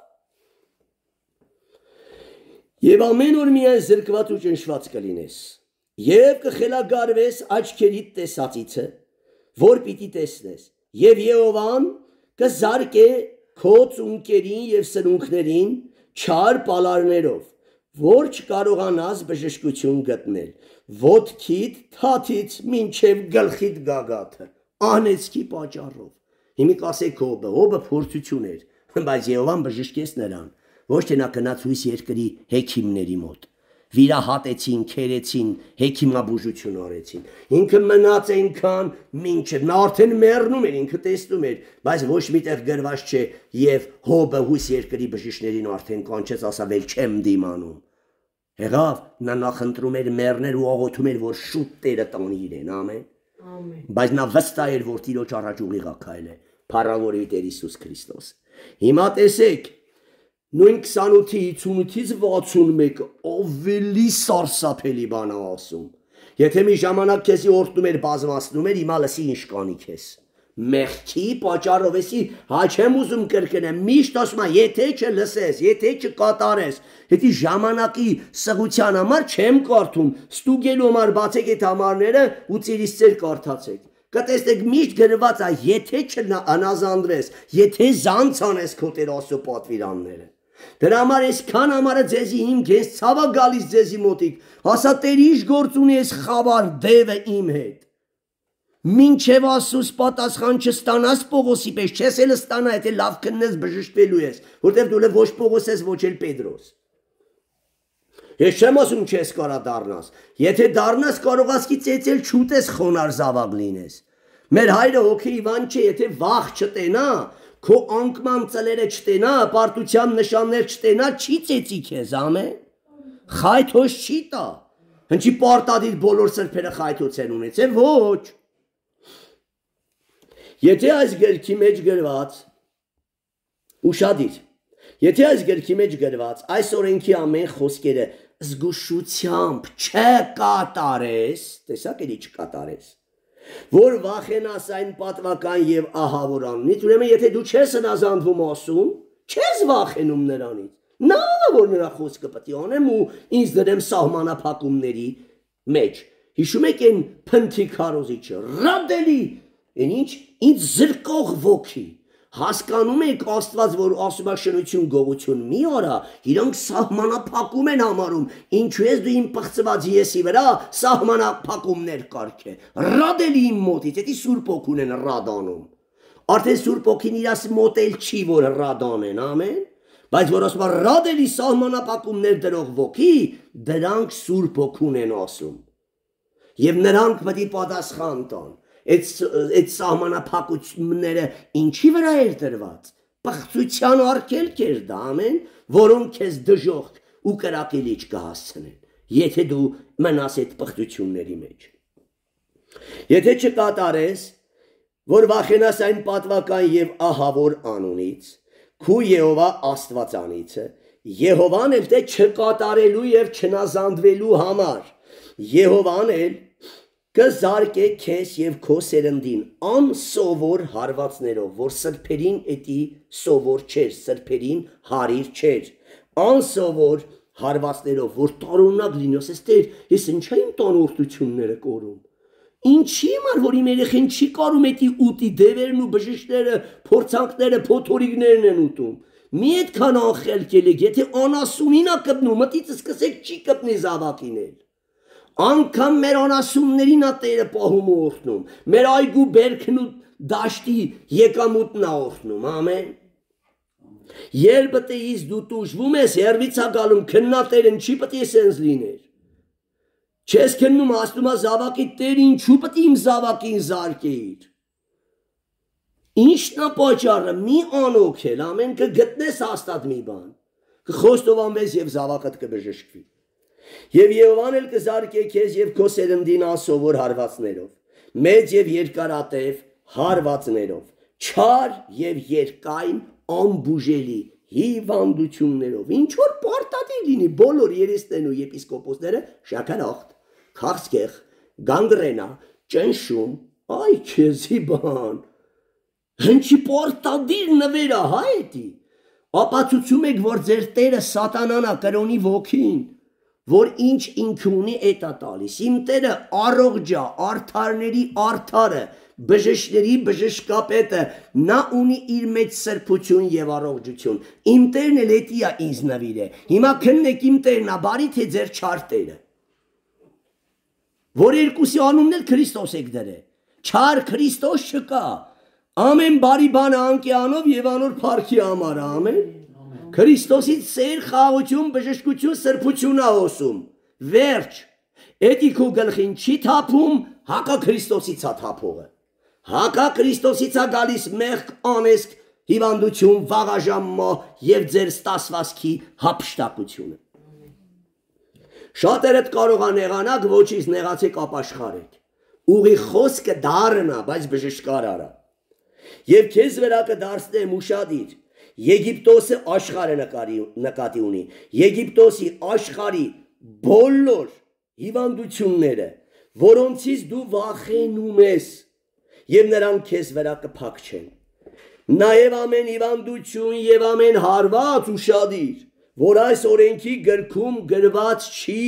S1: Եվ ամեն օր միայն զրկված ու ճնշված կլինես, և կխելագարվես աչքերիդ տեսածիցը, որ պիտի տեսնես, և Եհովան կզարկե քո ծունկերին և սնունքներին չար պալարներով, որ չկարողանաս բժշկություն գտնել, ոտքիդ թաթից մինչև գլխիդ գագաթը, անեծքի պատճառով։ Հիմի կասեք հոբը, հոբը փորձություն էր, բայց Եհովան բժշկեց նրան, ոչ թե նա գնաց հույս երկրի հեքիմների մոտ, վիրահատեցին, քերեցին, հեքիմաբուժություն արեցին, ինքը մնաց այնքան մինչև, նա արդեն մեռնում էր, ինքը տեսնում էր, բայց ոչ միտեղ գրված չէ, և հոբը հույս երկրի բժիշկներին արդեն կանչեց, ասավ էլ չեմ դիմանում։ Եղավ, նա նախընտրում էր մեռներ ու աղոթում էր, որ շուտ Տերը տանի իրեն, ամեն։ Բայց նա վստահ էր, որ Տիրոջ առաջ ուղիղ է քայլել, փառավորի Տեր Հիսուս Քրիստոս։ Հիմա տեսեք, նույն քսանութի հինգից վաթսունմեկը ավելի սարսափելի բան է ասում։ Եթե մի ժամանակ քեզի օրհնում էր, բազմացնում էր, հիմա լսի ինչ կանի քեզ։ Մեղքի պատճառով էսի հա չեմ ուզում կրկնեմ, միշտ ասում եմ, եթե չլսես, եթե չկատարես, հետի ժամանակի սղության համար չեմ կարդում, ստուգելու համար բացեք այդ համարները ու ծիրից ծեր կարդացեք։ Կտեսնեք միշտ գրված է, եթե չհնազանդվես, եթե զանց անես քո Տեր Աստծո պատվիրանները։ Դրա համար այսքան համարը ձեզի հիմք ես ցավա գալիս ձեզի մոտիկ, ասա Տեր ինչ գործ ունի այս խավար դևը իմ հետ։ Մինչև Աստծուց պատասխան չստանաս Պողոսի պես, չես էլ ստանա, եթե լավ քննես բժշկվելու ես, որտեղ դու ոչ Պողոս ես, ոչ էլ Պետրոս։ Ես չեմ ասում չես կարա դառնաս, եթե դառնաս կարող ասկի ծեծել չուտես խոնար զավակ լինես։ Մեր հայրը հոգի Իվան չէ, եթե վախ չտենա, քո անկման ծլերը չտենա, պարտության նշաններ չտենա, չի ծեծի քեզ, ամեն։ Խայթոց չի տա։ Հնչի պարտադիր բոլոր սրբերը խայթոց են ունեցել, ոչ։ Եթե այս գրքի մեջ գրված ուշադիր, Եթե այս գրքի մեջ գրված այս օրենքի ամեն խոսքերը զգուշությամբ չկատարես, տեսակ էլի չկատարես, որ վախենաս այն պատվական եւ ահավոր անունից, ուրեմն եթե դու չես հնազանդվում ասում, չես վախենում նրանից, նա որ նրա խոսքը պետք է անեմ ու ինձ դրեմ սահմանափակումների մեջ, հիշում եք այն փնթի քարոզիչը, ռադելի, այն ինչ, ինձ զրկող ոգի, հասկանում եք Աստված, որ ասում է շնություն գողություն մի արա, իրանք սահմանափակում են համարում, ինչու ես դու իմ պղծված եսի վրա սահմանափակումներ կարգե, ռադելի իմ մոտից, էդի Սուրբ Օքուն են ռադանում, արդեն Սուրբ Օքին իրաս մոտել չի, որ ռադանեն, ամեն, բայց որ ասում է ռադելի սահմանափակումներ դրող ոգի, դրանք Սուրբ Օքուն են ասում, և նրանք պետք է պատասխան տան, այդ սահմանափակությունները ինչի վրա էր դրված, պղծության արգելք էր դա, ամեն, որոնք քեզ դժոխք ու կրակելիչ կհասցնեն, եթե դու մնաս այդ պղծությունների մեջ։ Եթե չկատարես, որ վախենաս այն պատվական և ահավոր անունից, քու Եհովա Աստվածանիցը, Եհովան էլ թե չկատարելու և չնազանդվելու համար, Եհովան էլ կզարկե քեզ և քո սերնդին անսովոր հարվածներով, որ սրբերին էդի սովոր չէր, սրբերին հարիր չէր, անսովոր հարվածներով, որ տարօրինակ լինի, ասես Տեր, ես ինչա իմ տանորդությունները կորում, ինչի համար, որ իմ երեխեն չի կարում էդի ուտի դևերն ու բժիշկները, փորձանքները, փոթորիկներն են ուտում, մի այդքան անխելքել եք, եթե անասունին ա կպնում, մտից սկսեք չի կպնի զավակին էլ, անգամ մեր անասուններին ա Տերը պահում ու օրհնում, մեր այգու բերքն ու դաշտի եկամուտն ա օրհնում, ամեն, երբ տեից դու տուժվում ես, հեռվից ա գալում, քննատերն չի պետք է սենց լիներ, չես քննում, ասում ա զավակի Տեր ինչու պետք է իմ զավակին զարկեիր, ինչն ա պատճառը, մի անօգել, ամեն, կգտնես հաստատ մի բան, կխոստովանվես և զավակդ կբժշկվի, և Եհովան էլ կզարկե քեզ և քո սերնդին անսովոր հարվածներով, մեծ և երկարատև հարվածներով, չար և երկայն անբուժելի հիվանդություններով, ինչ որ պարտադիր լինի, բոլոր երեսներն ու եպիսկոպոսները շաքարախտ, քաղցկեղ, գանգրենա, ճնշում, այ քեզի բան, հնչի պարտադիր նվերա, հա էդի, ապացուցում եք, որ ձեր Տերը սատանան ա կրոնի ոգին, որ ինչ ինքը ունի էդ ա տալիս, իմ Տերը առողջա, արդարների արդարը, բժշկների բժշկապետը, նա ունի իր մեջ սրբություն և առողջություն, իմ Տերն էլ էդի ա ինձ նվիր է, հիմա քննեք իմ Տերն ա, բարի թե ձեր չար Տերը, որ երկուսի անունն էլ Քրիստոս եք դրե, չար Քրիստոս չկա, ամեն բարի բանը անկյանով և անոր փառքի համար, ամեն, Քրիստոսից սեր, խաղաղություն, բժշկություն, սրբություն ա հոսում, վերջ, էդի քո գլխին չի թափում, հակա Քրիստոսից ա թափողը, հակա Քրիստոսից ա գալիս մեղք, անեսք, հիվանդություն, վաղաժամմա և ձեր ստասվածքի հափշտակությունը։ Շատերդ կարող ա նեղանակ, ոչից նեղացեք ապաշխարեք, ուղի խոսքը դառն ա, բայց բժշկար արա, և քեզ վրա կդարձնեմ ուշադիր, Եգիպտոսը աշխարհը նկատի ունի, Եգիպտոսի աշխարհի բոլոր հիվանդությունները, որոնցից դու վախենում ես, և նրանք քեզ վրա կփակչեն, նաև ամեն հիվանդություն և ամեն հարված ուշադիր, որ այս օրենքի գրքում գրված չի,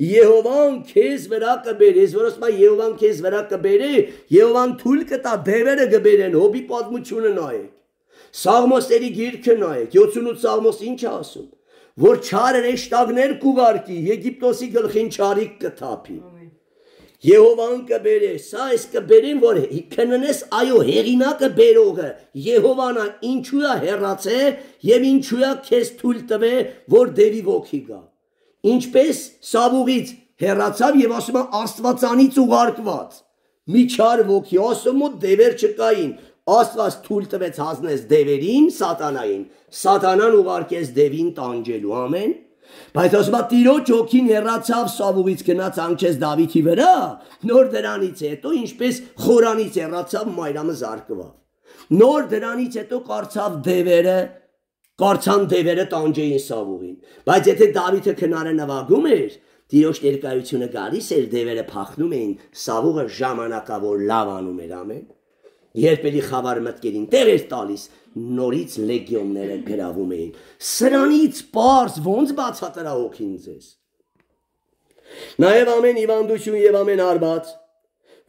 S1: Եհովան քեզ վրա կբերե, ես որ ասում եմ Եհովան քեզ վրա կբերե, Եհովան թույլ կտա դևերը կբերեն, Հոբի պատմությունը նայեք, Սաղմոսների գիրքը նայեք, յոթսունութ Սաղմոս ինչ է ասում, որ չար հրեշտակներ կուղարկի, Եգիպտոսի գլխին չարիք կթափի, Եհովան կբերե, սա ես կբերին, որ քննես այո հեղինակը բերողը, Եհովան ա ինչու է հեռացե և ինչու է քեզ թույլ տվե, որ դևի ոգի գա, ինչպես Սավուղից հեռացավ և ասում է Աստվածանից ուղարկված, մի չար ոգի, ասում ու դևեր չկային, Աստված թույլ տվեց հանձնես դևերին, սատանային, սատանան ուղարկեց դևին տանջելու, ամեն, բայց ասում է Տիրոջ հոգին հեռացավ Սավուղից գնաց հանգչեց Դավիթի վրա, նոր դրանից հետո ինչպես խորանից հեռացավ Մայրամը զարկվավ, նոր դրանից հետո կարծավ դևերը Կարծան դևերը տանջեին Սավուղին, բայց եթե Դավիթը քնարը նվագում էր, Տիրոջ ներկայությունը գալիս էր, դևերը փախնում էին, Սավուղը ժամանակավոր լավ անում էր, ամեն։ Երբ էլի խավար մտքերին տեղ էր տալիս, նորից լեգիոնները գրավում էին։ Սրանից պարզ ոնց բացատրա հոգին ձեզ։ Նաև ամեն հիվանդություն եւ ամեն արված,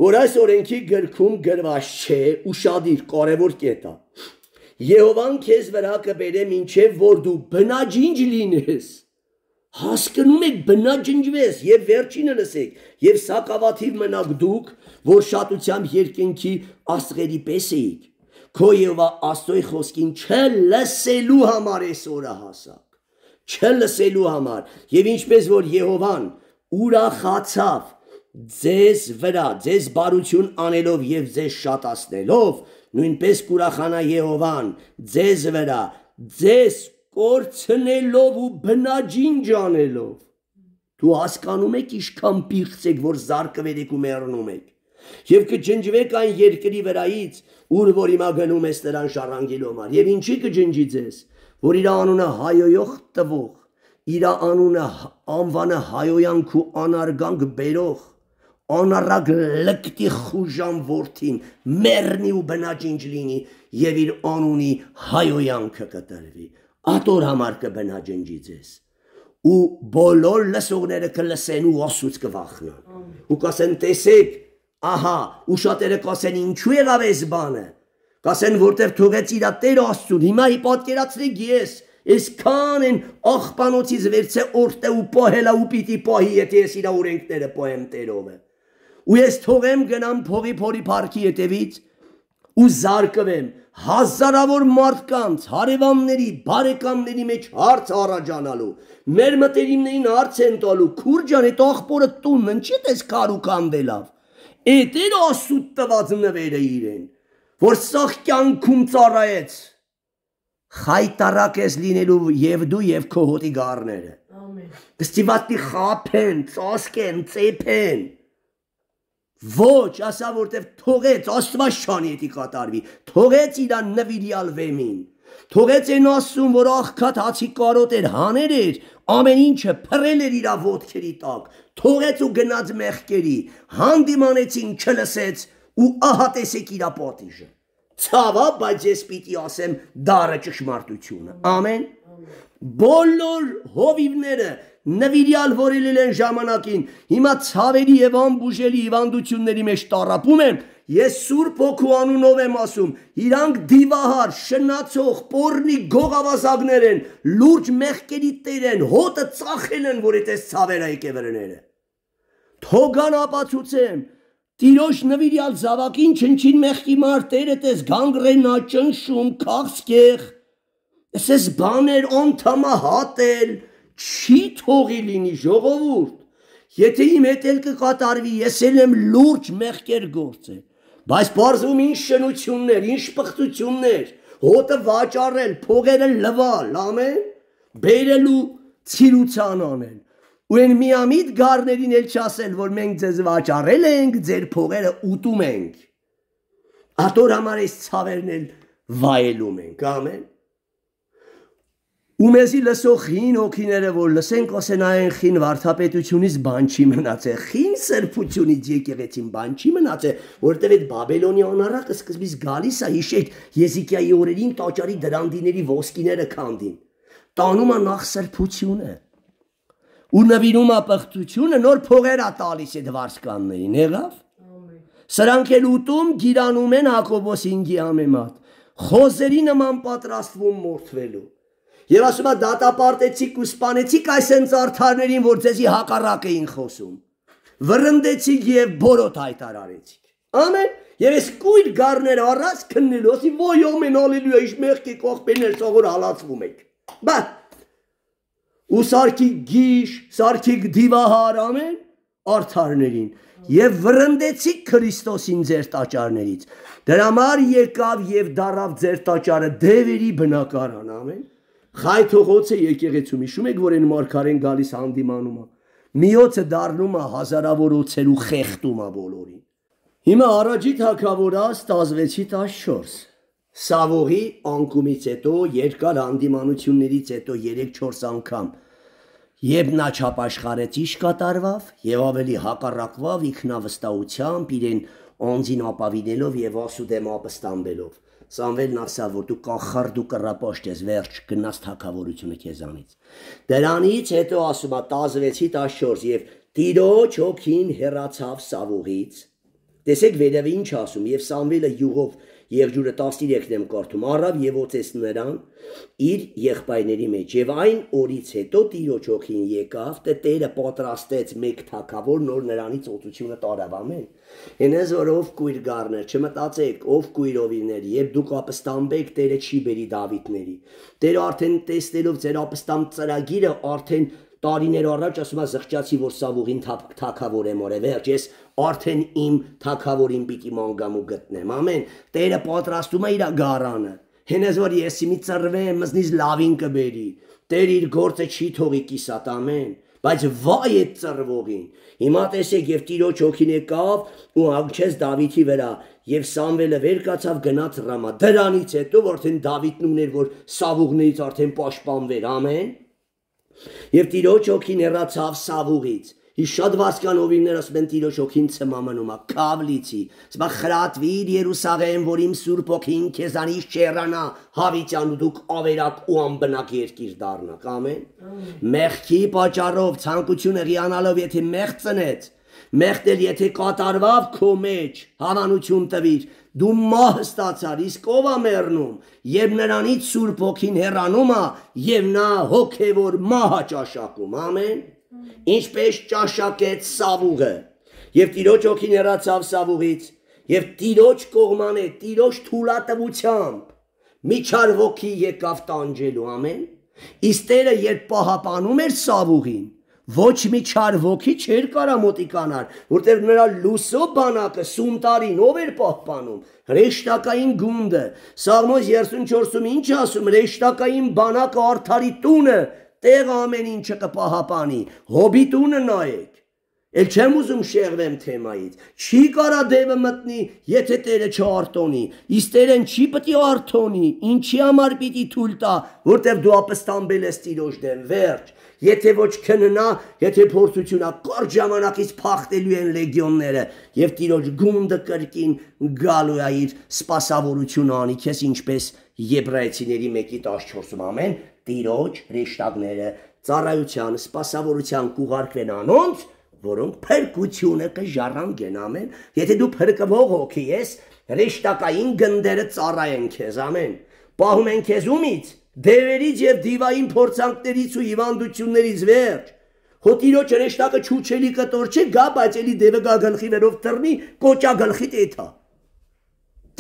S1: որ այս օրենքի գրքում գրված չէ, ուշադիր կարևոր կետ է։ Եհովան քեզ վրա կբերե մինչև որ դու բնաջինջ լինես։ Հասկանում եք բնաջնջվես եւ վերջինը լսեք եւ սակավաթիվ մնաք դուք, որ շատությամբ երկնքի աստղերի պես էիք։ Քո Եհովա Աստծոյ խոսքին չլսելու համար այսօրը հասակ։ Չլսելու համար եւ ինչպես որ Եհովան ուրախացավ ձեզ վրա, ձեզ բարություն անելով եւ ձեզ շատացնելով, նույնպես կուրախանա Եհովան ձեզ վրա, ձեզ կորցնելով ու բնաջինջ անելով։ Դու հասկանում եք ինչքան պիղծ եք, որ զարկվել եք ու մեռնում եք։ Եվ կջնջվեք այն երկրի վրայից, ուր որ հիմա գնում ես նրան շարանգելու համար։ Եվ ինչի կջնջի ձեզ, որ իր անունը հայոյող տվող, իր անունը անվանը հայոյանք ու անարգանք բերող, անառակ լկտի խուժան որդին մեռնի ու բնաջինջ լինի եւ իր անունի հայոյանքը կտրվի։ Ատոր համար կբնաջնջի ձեզ։ Ու բոլոր լսողները կլսեն ու Աստծուց կվախնան։ Ու կասեն տեսեք, ահա, ու շատերը կասեն ինչու եղավ այս բանը։ Կասեն որտեղ թողեց իր Տեր Աստծուն։ Հիմա ի պատկերացրեք ես, այսքան են աղբանոցից վերցե օրտե ու պահելա ու պիտի պահի, եթե ես իր օրենքները պահեմ Տերովը։ Ու ես թողեմ գնամ փողի փորի парքի հետևից ու զարկվեմ հազարավոր մարդկանց, հարևանների, բարեկամների մեջ հարց առաջանալու, մեր մտերիմներին հարց են տալու, քուրջան այդ աղբորը տունն ինչի՞ դες կարուքանդելավ։ Էդ էր Աստծու տված նվերը իրեն, որ սաղ կյանքում ծառայեց։ Խայտարակ ես լինելու եւ դու եւ քո հոտի գառները։ Ամեն։ Դստիվատի խափեն, ծոսկեն, ծեփեն։ Ոչ, ասա որտեվ թողեց Աստված շանի էտի կատարվի, թողեց իրան նվիրյալ վեմին, թողեց այն Աստծուն, որ աղքատ հացի կարոտ էր, հաներ էր, ամեն ինչը փռել էր իր ոտքերի տակ, թողեց ու գնաց մեղքերի, հանդիմանեցին չլսեց ու ահա տեսեք իր պատիժը։ Ցավա, բայց ես պիտի ասեմ դառը ճշմարտությունը։ Ամեն։ Բոլոր հովիվները նվիրյալ որելել են ժամանակին, հիմա ցավերի եւ անբուժելի հիվանդությունների մեջ տառապում են, ես Սուրբ Հոգու անունով եմ ասում, իրանք դիվահար, շնացող, պոռնի գողավազակներ են, լուրջ մեղքերի տեր են, հոտը ծախել են, որ այդպես ցավերը եկևրները։ Թողան ապացուցեմ, Տիրոջ նվիրյալ զավակին չնչին մեղքի մարտերը տես գանգրենա ճնշում, քաղցկեղ, ես բաներ անդամահատել, չի թողի լինի ժողովուրդ, եթե իմ հետ էլ կկատարվի, ես էլ եմ լուրջ մեղքեր գործել, բայց պարզվում ինչ շնություններ, ինչ պղծություններ, հոտը վաճառել, փողերը լվալ, ամեն, բերելու ցիրուցան անել, ու են միամիտ գառներին էլ չասել, որ մենք ձեզ վաճառել ենք, ձեր փողերը ուտում ենք, ատոր համար այս ցավերն էլ վայելում ենք, ամեն, ու մեզի լսող խին հոգիները, որ լսենք ասեն այն խին վարդապետությունից բան չի մնացել, խին սրբությունից եկեղեցին բան չի մնացել, որտև այդ Բաբելոնի անառակը սկզբից գալիս է, հիշեք, Եզիկիայի օրերին տաճարի դրանդիների ոսկիները քանդին, տանում է նախ սրբությունը, ու նվիրում է պղծությունը, նոր փողեր է տալիս այդ վարսկաններին, եղավ, սրանք էլ ուտում գիրանում են Հակոբոս հինգի համեմատ, խոզերի նման պատրաստվում մորթվելու, Եվ ասում է դատապարտեցիք ու սպանեցիք այս հենց արդարներին, որ ձեզի հակառակ էին խոսում, վրընդեցիք և բորոտ հայտարարեցիք, ամեն, և ես կույր գառները առած քննելու, ասի ոյ ամեն ալելույա, իշ մեղքի կողպերներ սողոր հալացվում եք, բա, ու սարքիք գիշ, սարքիք դիվահար, ամեն, արդարներին, և վրընդեցիք Քրիստոսին ձեր տաճարներից, դրա համար եկավ և դարավ ձեր տաճարը դևերի բնակարան, ամեն, Խայթողոցը եկեղեցում, իշում եք, որ են մարգարեն գալիս հանդիմանում է, միոցը դառնում է հազարավոր օձեր ու խեղդում է բոլորին։ Հիմա առաջի թագավորը ստազվեցի տասնչորս, Սավողի անկումից հետո երկար հանդիմանություններից հետո երեք-չորս անգամ եւ նա չապաշխարեց իշ կատարվավ եւ ավելի հակառակվավ ինքնավստահությամբ իրեն անձին ապավինելով եւ ասուդեմ ապստամբելով Սամվելն ասավ որ դու կախար դու կռապաշտ ես վերջ գնաց թակավորությունը քեզանից դրանից հետո ասում է տասնվեցի տասնչորս եւ Տիրոջ հոգին հեռացավ Սավողից տեսեք վերևը ինչ ասում եւ Սամվելը յուղով Եղջյուրը տասներեքն եմ կարդում առավ եւ օծեց նրան իր եղբայրների մեջ եւ այն օրից հետո Տիրոջ հոգին եկավ թե Տերը պատրաստեց մեկ թագավոր նոր նրանից օծությունը տարավ ամեն հենես որ ով կույր գառներ չմտածեք ով կույրովիներ եւ դուք ապստամբեք Տերը չի բերի Դավիթների Տերը արդեն տեսնելով ձեր ապստամբ ծրագիրը արդեն տարիներ առաջ ասում է զղջացի որ Սավողին թագավոր եմ օրե վերջ ես արդեն իմ թագավորին պիտի մանգամ ու գտնեմ ամեն Տերը պատրաստում է իր գարանը հենես որ ես մի ծռվեմ մզնից լավին կբերի Տերը իր գործը չի թողի կիսատ ամեն բայց վայ այդ ծռվողին հիմա տեսեք եւ Տիրոջ հոգին եկավ ու հանգչեց Դավիթի վրա եւ Սամվելը վեր կացավ գնաց Ռամա դրանից հետո արդեն Դավիթն ուներ որ Սավողներից արդեն պաշտպանվեր ամեն Եվ Տիրոջ հոգին հեռացավ Սավողից Իս շատ վասկանովիներ ասում են Տիրոջ հոգին ցմամնում է կավլիցի Սա խրատվիր Երուսաղեմ որ իմ Սուրբ հոգին քեզանից չեռանա հավիտյան ու դուք ավերակ ու անբնակ երկիր դառնաք ամեն Մեղքի պատճառով ցանկությունը հիանալով եթե մեղ ծնեց Մեղտել եթե կատարվավ քո մեջ հավանություն տվիր դու մահ ստացար իսկ ով է մեռնում եւ նրանից Սուրբ հոգին հեռանում է եւ նա հոգեվոր մահ ճաշակում ամեն ինչպես ճաշակեց Սավուղը եւ Տիրոջ հոգին հեռացավ Սավուղից եւ Տիրոջ կողմանը Տիրոջ թուլատվությամբ միջար ոգի եկավ տանջելու ամեն իսկ Տերը երբ պահապանում էր Սավուղին Ոչ մի չար ոգի չէր կարա մոտիկանալ, որտեղ նրա լուսո բանակը սուն տարին ով էր պահպանում, հրեշտակային գունդը, Սաղմոս երեսունչորսում ինչ ասում, հրեշտակային բանակը արդարի տունը, տեղ ամեն ինչը կպահապանի, հոբի տունը նայեք, էլ չեմ ուզում շեղվեմ թեմայից, չի կարա դևը մտնի, եթե Տերը չարտոնի, իսկ Տերեն չի պտի արտոնի, ինչի համար պիտի թույլ տա, որտեղ դու ապստամբել ես Տիրոջ դեմ, վերջ, Եթե ոչ քննա, եթե փորձությունա կարճ ժամանակից փախտելու են լեգիոնները եւ Տիրոջ գունդը կրկին գալու է իր սպասավորությունը անի քեզ ինչպես Եբրայեցիների մեկի տասնչորսում ամեն Տիրոջ հրեշտակները ծառայության սպասավորության կուղարկվեն անոնց որոնք փրկությունը կժառանգեն ամեն եթե դու փրկվող հոգի ես հրեշտակային գնդերը ծառայեն քեզ ամեն պահում են քեզ ումից Դևերից եւ դիվային փորձանքներից ու հիվանդություններից վերջ Հո Տիրոջ հրեշտակը չուչելի կտոր չէ գա բայց էլի դևը գա գլխի վերով թռնի կոճա գլխի տեթա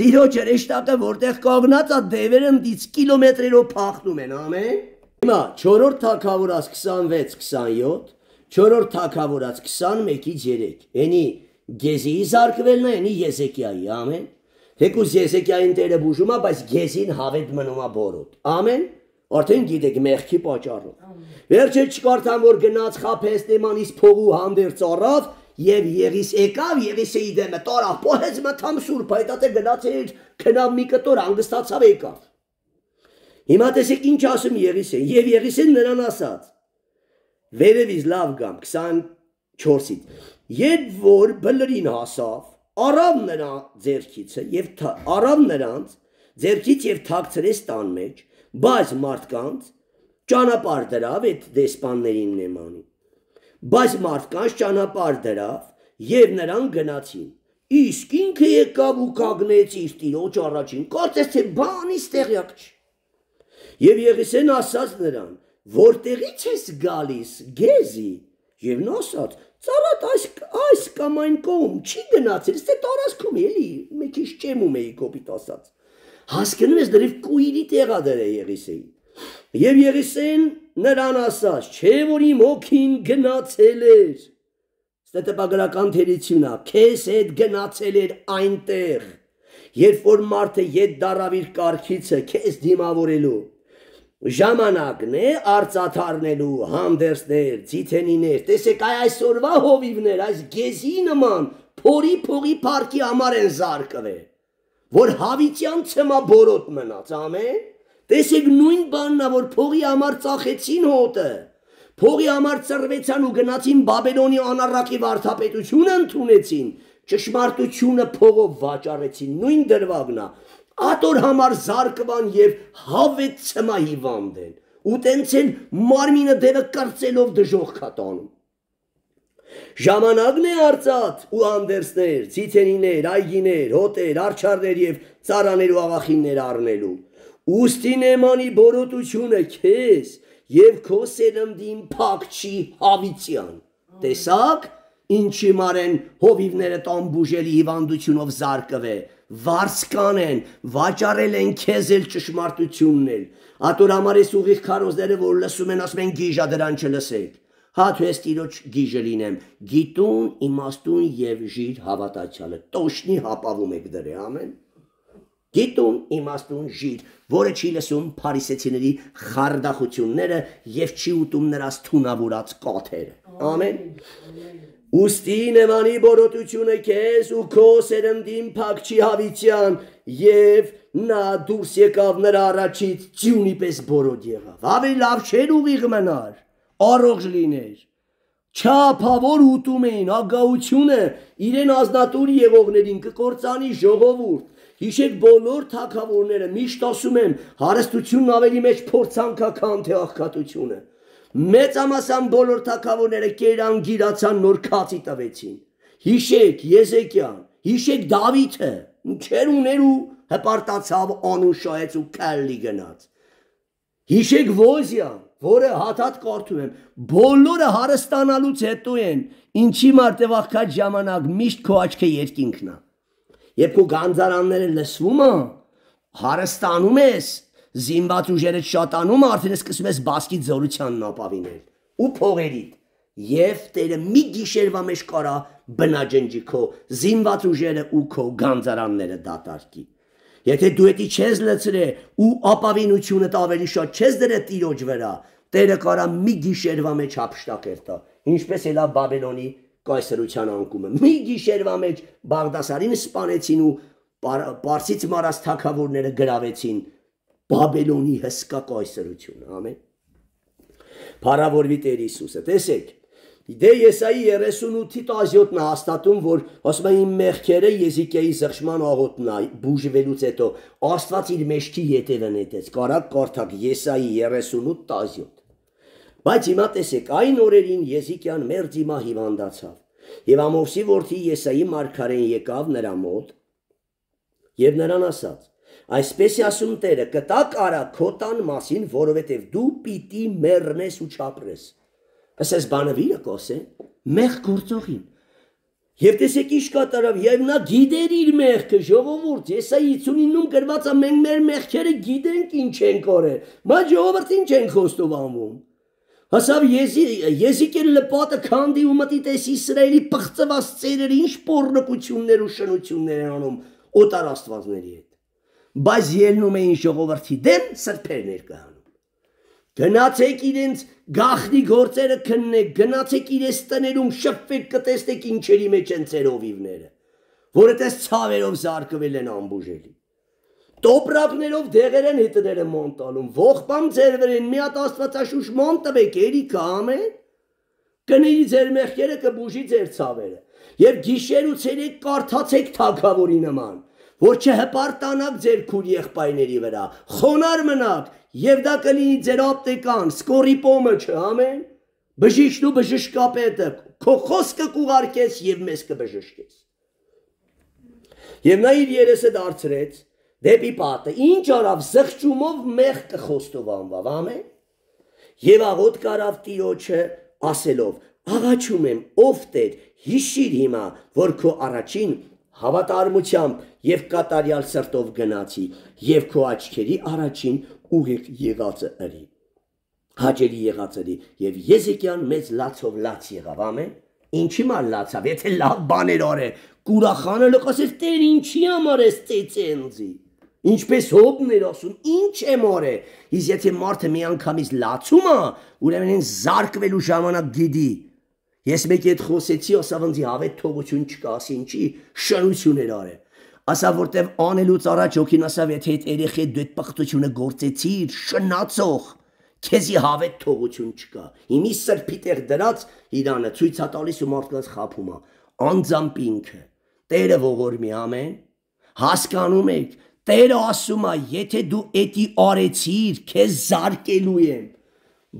S1: Տիրոջ հրեշտակը որտեղ կանգնած է դևերը ընդից կիլոմետրերով փախնում են ամեն Հիմա չորրորդ թագավորաց քսանվեց քսանյոթ չորրորդ թագավորաց քսանմեկից երեք Էնի Գեզիի զարկվելն է էնի Եզեկիայի ամեն Թեկուզ Եզեկիային Տերը բուժում է, բայց Գեզին հավետ մնում է բորոտ։ Ամեն։ Արդեն գիտեք մեղքի պատճառով։ Վերջը չկարդամ որ գնաց խափեց Թեմանից փողու հանդերձ առավ եւ Եղիս եկավ Եղիսեի դեմը տարավ փոհեց մթամ սուրբ այդ ատե գնաց էր քնավ մի կտոր հանգստացավ եկավ։ Հիմա տեսեք ինչ ասում Եղիսեն եւ Եղիսեն նրան ասաց։ Վերևից լավ գամ քսանչորսից։ Երբ որ բլրին հասավ Արավ նրա ձերքիցը եւ արավ նրանց ձերքից եւ թաքցրեց տան մեջ բայց մարդկանց ճանապարհ դրավ այդ դեսպաններին նեմանի բայց մարդկանց ճանապարհ դրավ եւ նրան գնացին իսկ ինքը եկավ ու կանգնեց իր Տիրոջ առաջին կարծես թե բանից տեղյակ չի եւ Եղիսեն ասաց նրան որտեղից ես գալիս Գեզի եւ նա ասաց Ծառատ այս այս կամ այն կողմ չի գնացել, ստե տարածքում էլի, մի քիչ ճեմում էի կոպիտ ասած։ Հասկանում ես դրիվ կույրի տեղա դրե Եղիսեի։ Եվ Եղիսեն նրան ասաց, չէ որ իմ հոգին գնացել էր։ Ստե տպագրական թերությունա, քեզ հետ գնացել էր այնտեղ, երբ որ մարդը ետ դարավ իր կարգիցը քեզ դիմավորելու։ Ժամանակն է արծաթարնելու հանդերձներ, ձիթենիներ, տեսեք այ այսօրվա հովիվներ, այս Գեզի նման փորի փողի փառքի համար են զարկվել, որ հավիտյան ցմա բորոտ մնաց, ամեն։ Տեսեք նույն բանն է, որ փողի համար ծախեցին հոտը, փողի համար ծռվեցան ու գնացին Բաբելոնի անառակի վարդապետությունը ընդունեցին, ճշմարտությունը փողով վաճառեցին, նույն դրվագն է, ատոր համար զարկվան եւ հավետ ցմա հիվանդ են, ու տենց են մարմինը դերը կրծելով դժոխք տանում։ Ժամանակն է արծաթ ու անդերսներ, ցիթենիներ, այգիներ, հոտեր, արջարներ եւ ծարաներ ու աղախիններ առնելու։ Ուստի նեմանի բորոտությունը քեզ եւ քո սերնդին փակչի հավիտյան։ Տեսակ, ինչի մարեն հովիվները տամբուժելի հիվանդությունով զարկվե, վարսկան են, վաճառել են քեզ էլ ճշմարտությունն էլ։ Ատոր համար ես ուղիղ քարոզները, որ լսում են, ասում են գիժա դրան չլսեք։ Հատ ես տիրոջ գիժը լինեմ, գիտուն, իմաստուն եւ ժիր հավատացյալը, տոշնի հապավում եք դրե, ամեն։ Գիտուն, իմաստուն, ժիր, որը չի լսում փարիսեցիների խարդախությունները եւ չի ուտում նրանց թունավորած կաթերը, ամեն։ Ուստի նեմանի բորոտությունը քեզ ու քո սերնդին փակչի հավիտյան եւ նա դուրս եկավ նրա առաջից ձյունի պես բորոտ եղավ։ Ավելի լավ չէր ուղիղ մնար, առողջ լիներ։ Չափավոր ուտում էին, ագահությունը իրեն ազնատուր եղողներին կկործանի ժողովուրդ։ Հիշեք բոլոր թագավորները միշտ ասում են հարստությունն ավելի մեջ փորձանք է, քան թե աղքատությունը։ Մեծամասն բոլոր թագավորները կերան գիրացան նոր քացի տվեցին։ Հիշեք Եզեկիան, հիշեք Դավիթը, ինչեր ուներ ու հպարտացավ անուշահեց ու կալլի գնաց։ Հիշեք Ոզիան, որը հաթաթ կարդում եմ, բոլորը հարստանալուց հետո են, ինչի մարդև աղքատ ժամանակ միշտ քո աչքը երկինքն է։ Երբ քո գանձարանները լսվում է, հարստանում ես, զինված ուժերը շատանում, արդեն սկսում ես բասկի զորությանն ապավինել ու փողերիդ, եւ Տերը մի գիշերվա մեջ կարա բնաջնջի քո զինված ուժերը ու քո գանձարանները դատարկի։ Եթե դու էդի չես լցրե ու ապավինությունդ ավելի շատ չես դրե Տիրոջ վրա, Տերը կարա մի գիշերվա մեջ հափշտակեր տա, ինչպես էլա Բաբելոնի կայսրության անկումը։ Մի գիշերվա մեջ Բաղդասարին սպանեցին ու Պարսից մարած թագավորները գրավեցին Բաբելոնի հսկա կայսրությունը, ամեն։ Փառավորվի Տեր Հիսուսը, տեսեք, դե Եսայի երեսունութի տասնյոթն է հաստատում, որ ասում է իմ մեղքերը Եզիկիայի զղջման աղոթն է, բուժվելուց հետո Աստված իր մեջքի ետևը նետեց, կարակ կարդակ Եսայի երեսունութ տասնյոթ։ Բայց հիմա տեսեք, այն օրերին Եզիկիան մերձ հիմա հիվանդացավ, եւ Ամովսի որդի Եսայի մարգարեն եկավ նրա մոտ եւ նրան ասաց. Այսպես է ասում Տերը, կտակ արա քո տան մասին, որովհետև դու պիտի մեռնես ու չապրես։ Ասես բանվիրը կոսե, մեղ գործողին։ Եվ տեսեք ինչ կատարավ, եւ նա գիտեր իր մեղքը, ժողովուրդ, Եսայի հիսունինում գրված է, մենք մեր մեղքերը գիտենք ինչ ենք օրել, բայց ժողովուրդ ինչ ենք խոստովանվում։ Հասավ Եզիկիել լպատը քանդի ու մտի տես Իսրայելի պղծված ծերերը ինչ պոռնկություններ ու շնություններ են անում օտար աստվածների հետ։ Բայց ելնում էին ժողովրդի դեմ սրբեր ներկայանում։ Գնացեք իրենց գախնի գործերը քննեք, գնացեք իրենց տներում շփվեք, կտեսնեք ինչերի մեջ են ծեր հովիվները, որը տես ցավերով զարկվել են ամբուժելի։ Տոպրակներով դեղեր են հետները մոնտալում, ողբամ ձեր վրեն մի հատ աստվածաշուշ ման տվեք, երիքը ամեն, կների ձեր մեղքերը, կբուժի ձեր ցավերը, եւ գիշեր ու ցերեկ կարդացեք թագավորի նման, որ չհպարտանաք ձեր քուր եղբայրների վրա, խոնար մնաք, եւ դա կլինի ձեր ապտեկան, սկորիպոմը չէ, ամեն, բժիշկն ու բժշկապետը, քո խոսքը կուղարկես եւ մեզ կբժշկես։ Եվ նա իր երեսը դարձրեց դեպի պատը, ինչ արավ զղջումով մեղ կխոստովանվավ, ամեն, եւ աղոտ կարավ Տիրոջը ասելով, աղաչում եմ, ով Տեր, հիշիր հիմա, որ քո առաջին հավատարմությամբ եւ կատարյալ սրտով գնացի եւ քո աչքերի առաջին ուղիղ եղածը ըրի, հաճելի եղած ըրի եւ Եզեկիան մեծ լացով լաց եղավ, ամեն, ինչի մալ լացավ, եթե լավ բաներ արե, կուրախանը լկասել Տեր ինչի համար ես ծեծենձի, ինչպես հոբն էր ասում, ինչ եմ արե, իսկ եթե մարդը մի անգամից լացում է, ուրեմն են զարկվելու ժամանակ գիտի։ Ես մեկի հետ խոսեցի, ասավ ինձ հավետ թողություն չկա, ասի ինչի շնություն էր արել։ ասա որտեվ անելուց առաջ հոգին ասավ եթե այդ երեխի դու այդ պղտությունը գործեցիր շնացող քեզի հավետ թողություն չկա հիմի սրբի տեղ դրած իրանը ցույց է տալիս ու մարդկանց խափում է անձամբ ինքը Տերը ողորմի ամեն հասկանում եք Տերը ասում է եթե դու էդի արեցիր քեզ զարկելու եմ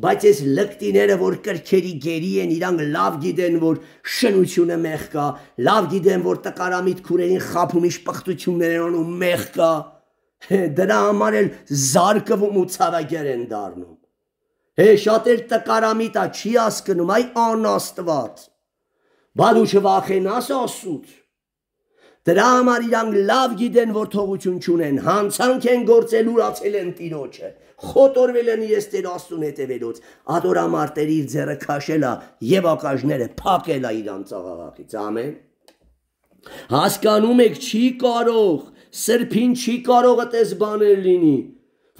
S1: բայց այս լկտիները որ կրքերի գերի են իրանք լավ գիտեն որ շնությունը մեղ կա լավ գիտեն որ տկարամիտ քուրերին խափում իշ պղտություններ են անում մեղ կա դրա համար էլ զարկվում ու ցավագեր են դառնում հե շատ էլ տկարամիտ է չի հասկնում այ անաստված բա դու չվախենաս Աստծուց Դրա համար իրանք լավ գիտեն որ թողություն չունեն հանցանք են գործել ուրացել են Տիրոջը խոտորվել են իրենց Տեր Աստծուն հետևելուց ադորամարտերի իր ձեռը քաշել է եւ ակաժները փակել է իրանց աղաղակից ամեն հասկանում եք չի կարող սրբին չի կարող այդպես բաներ լինի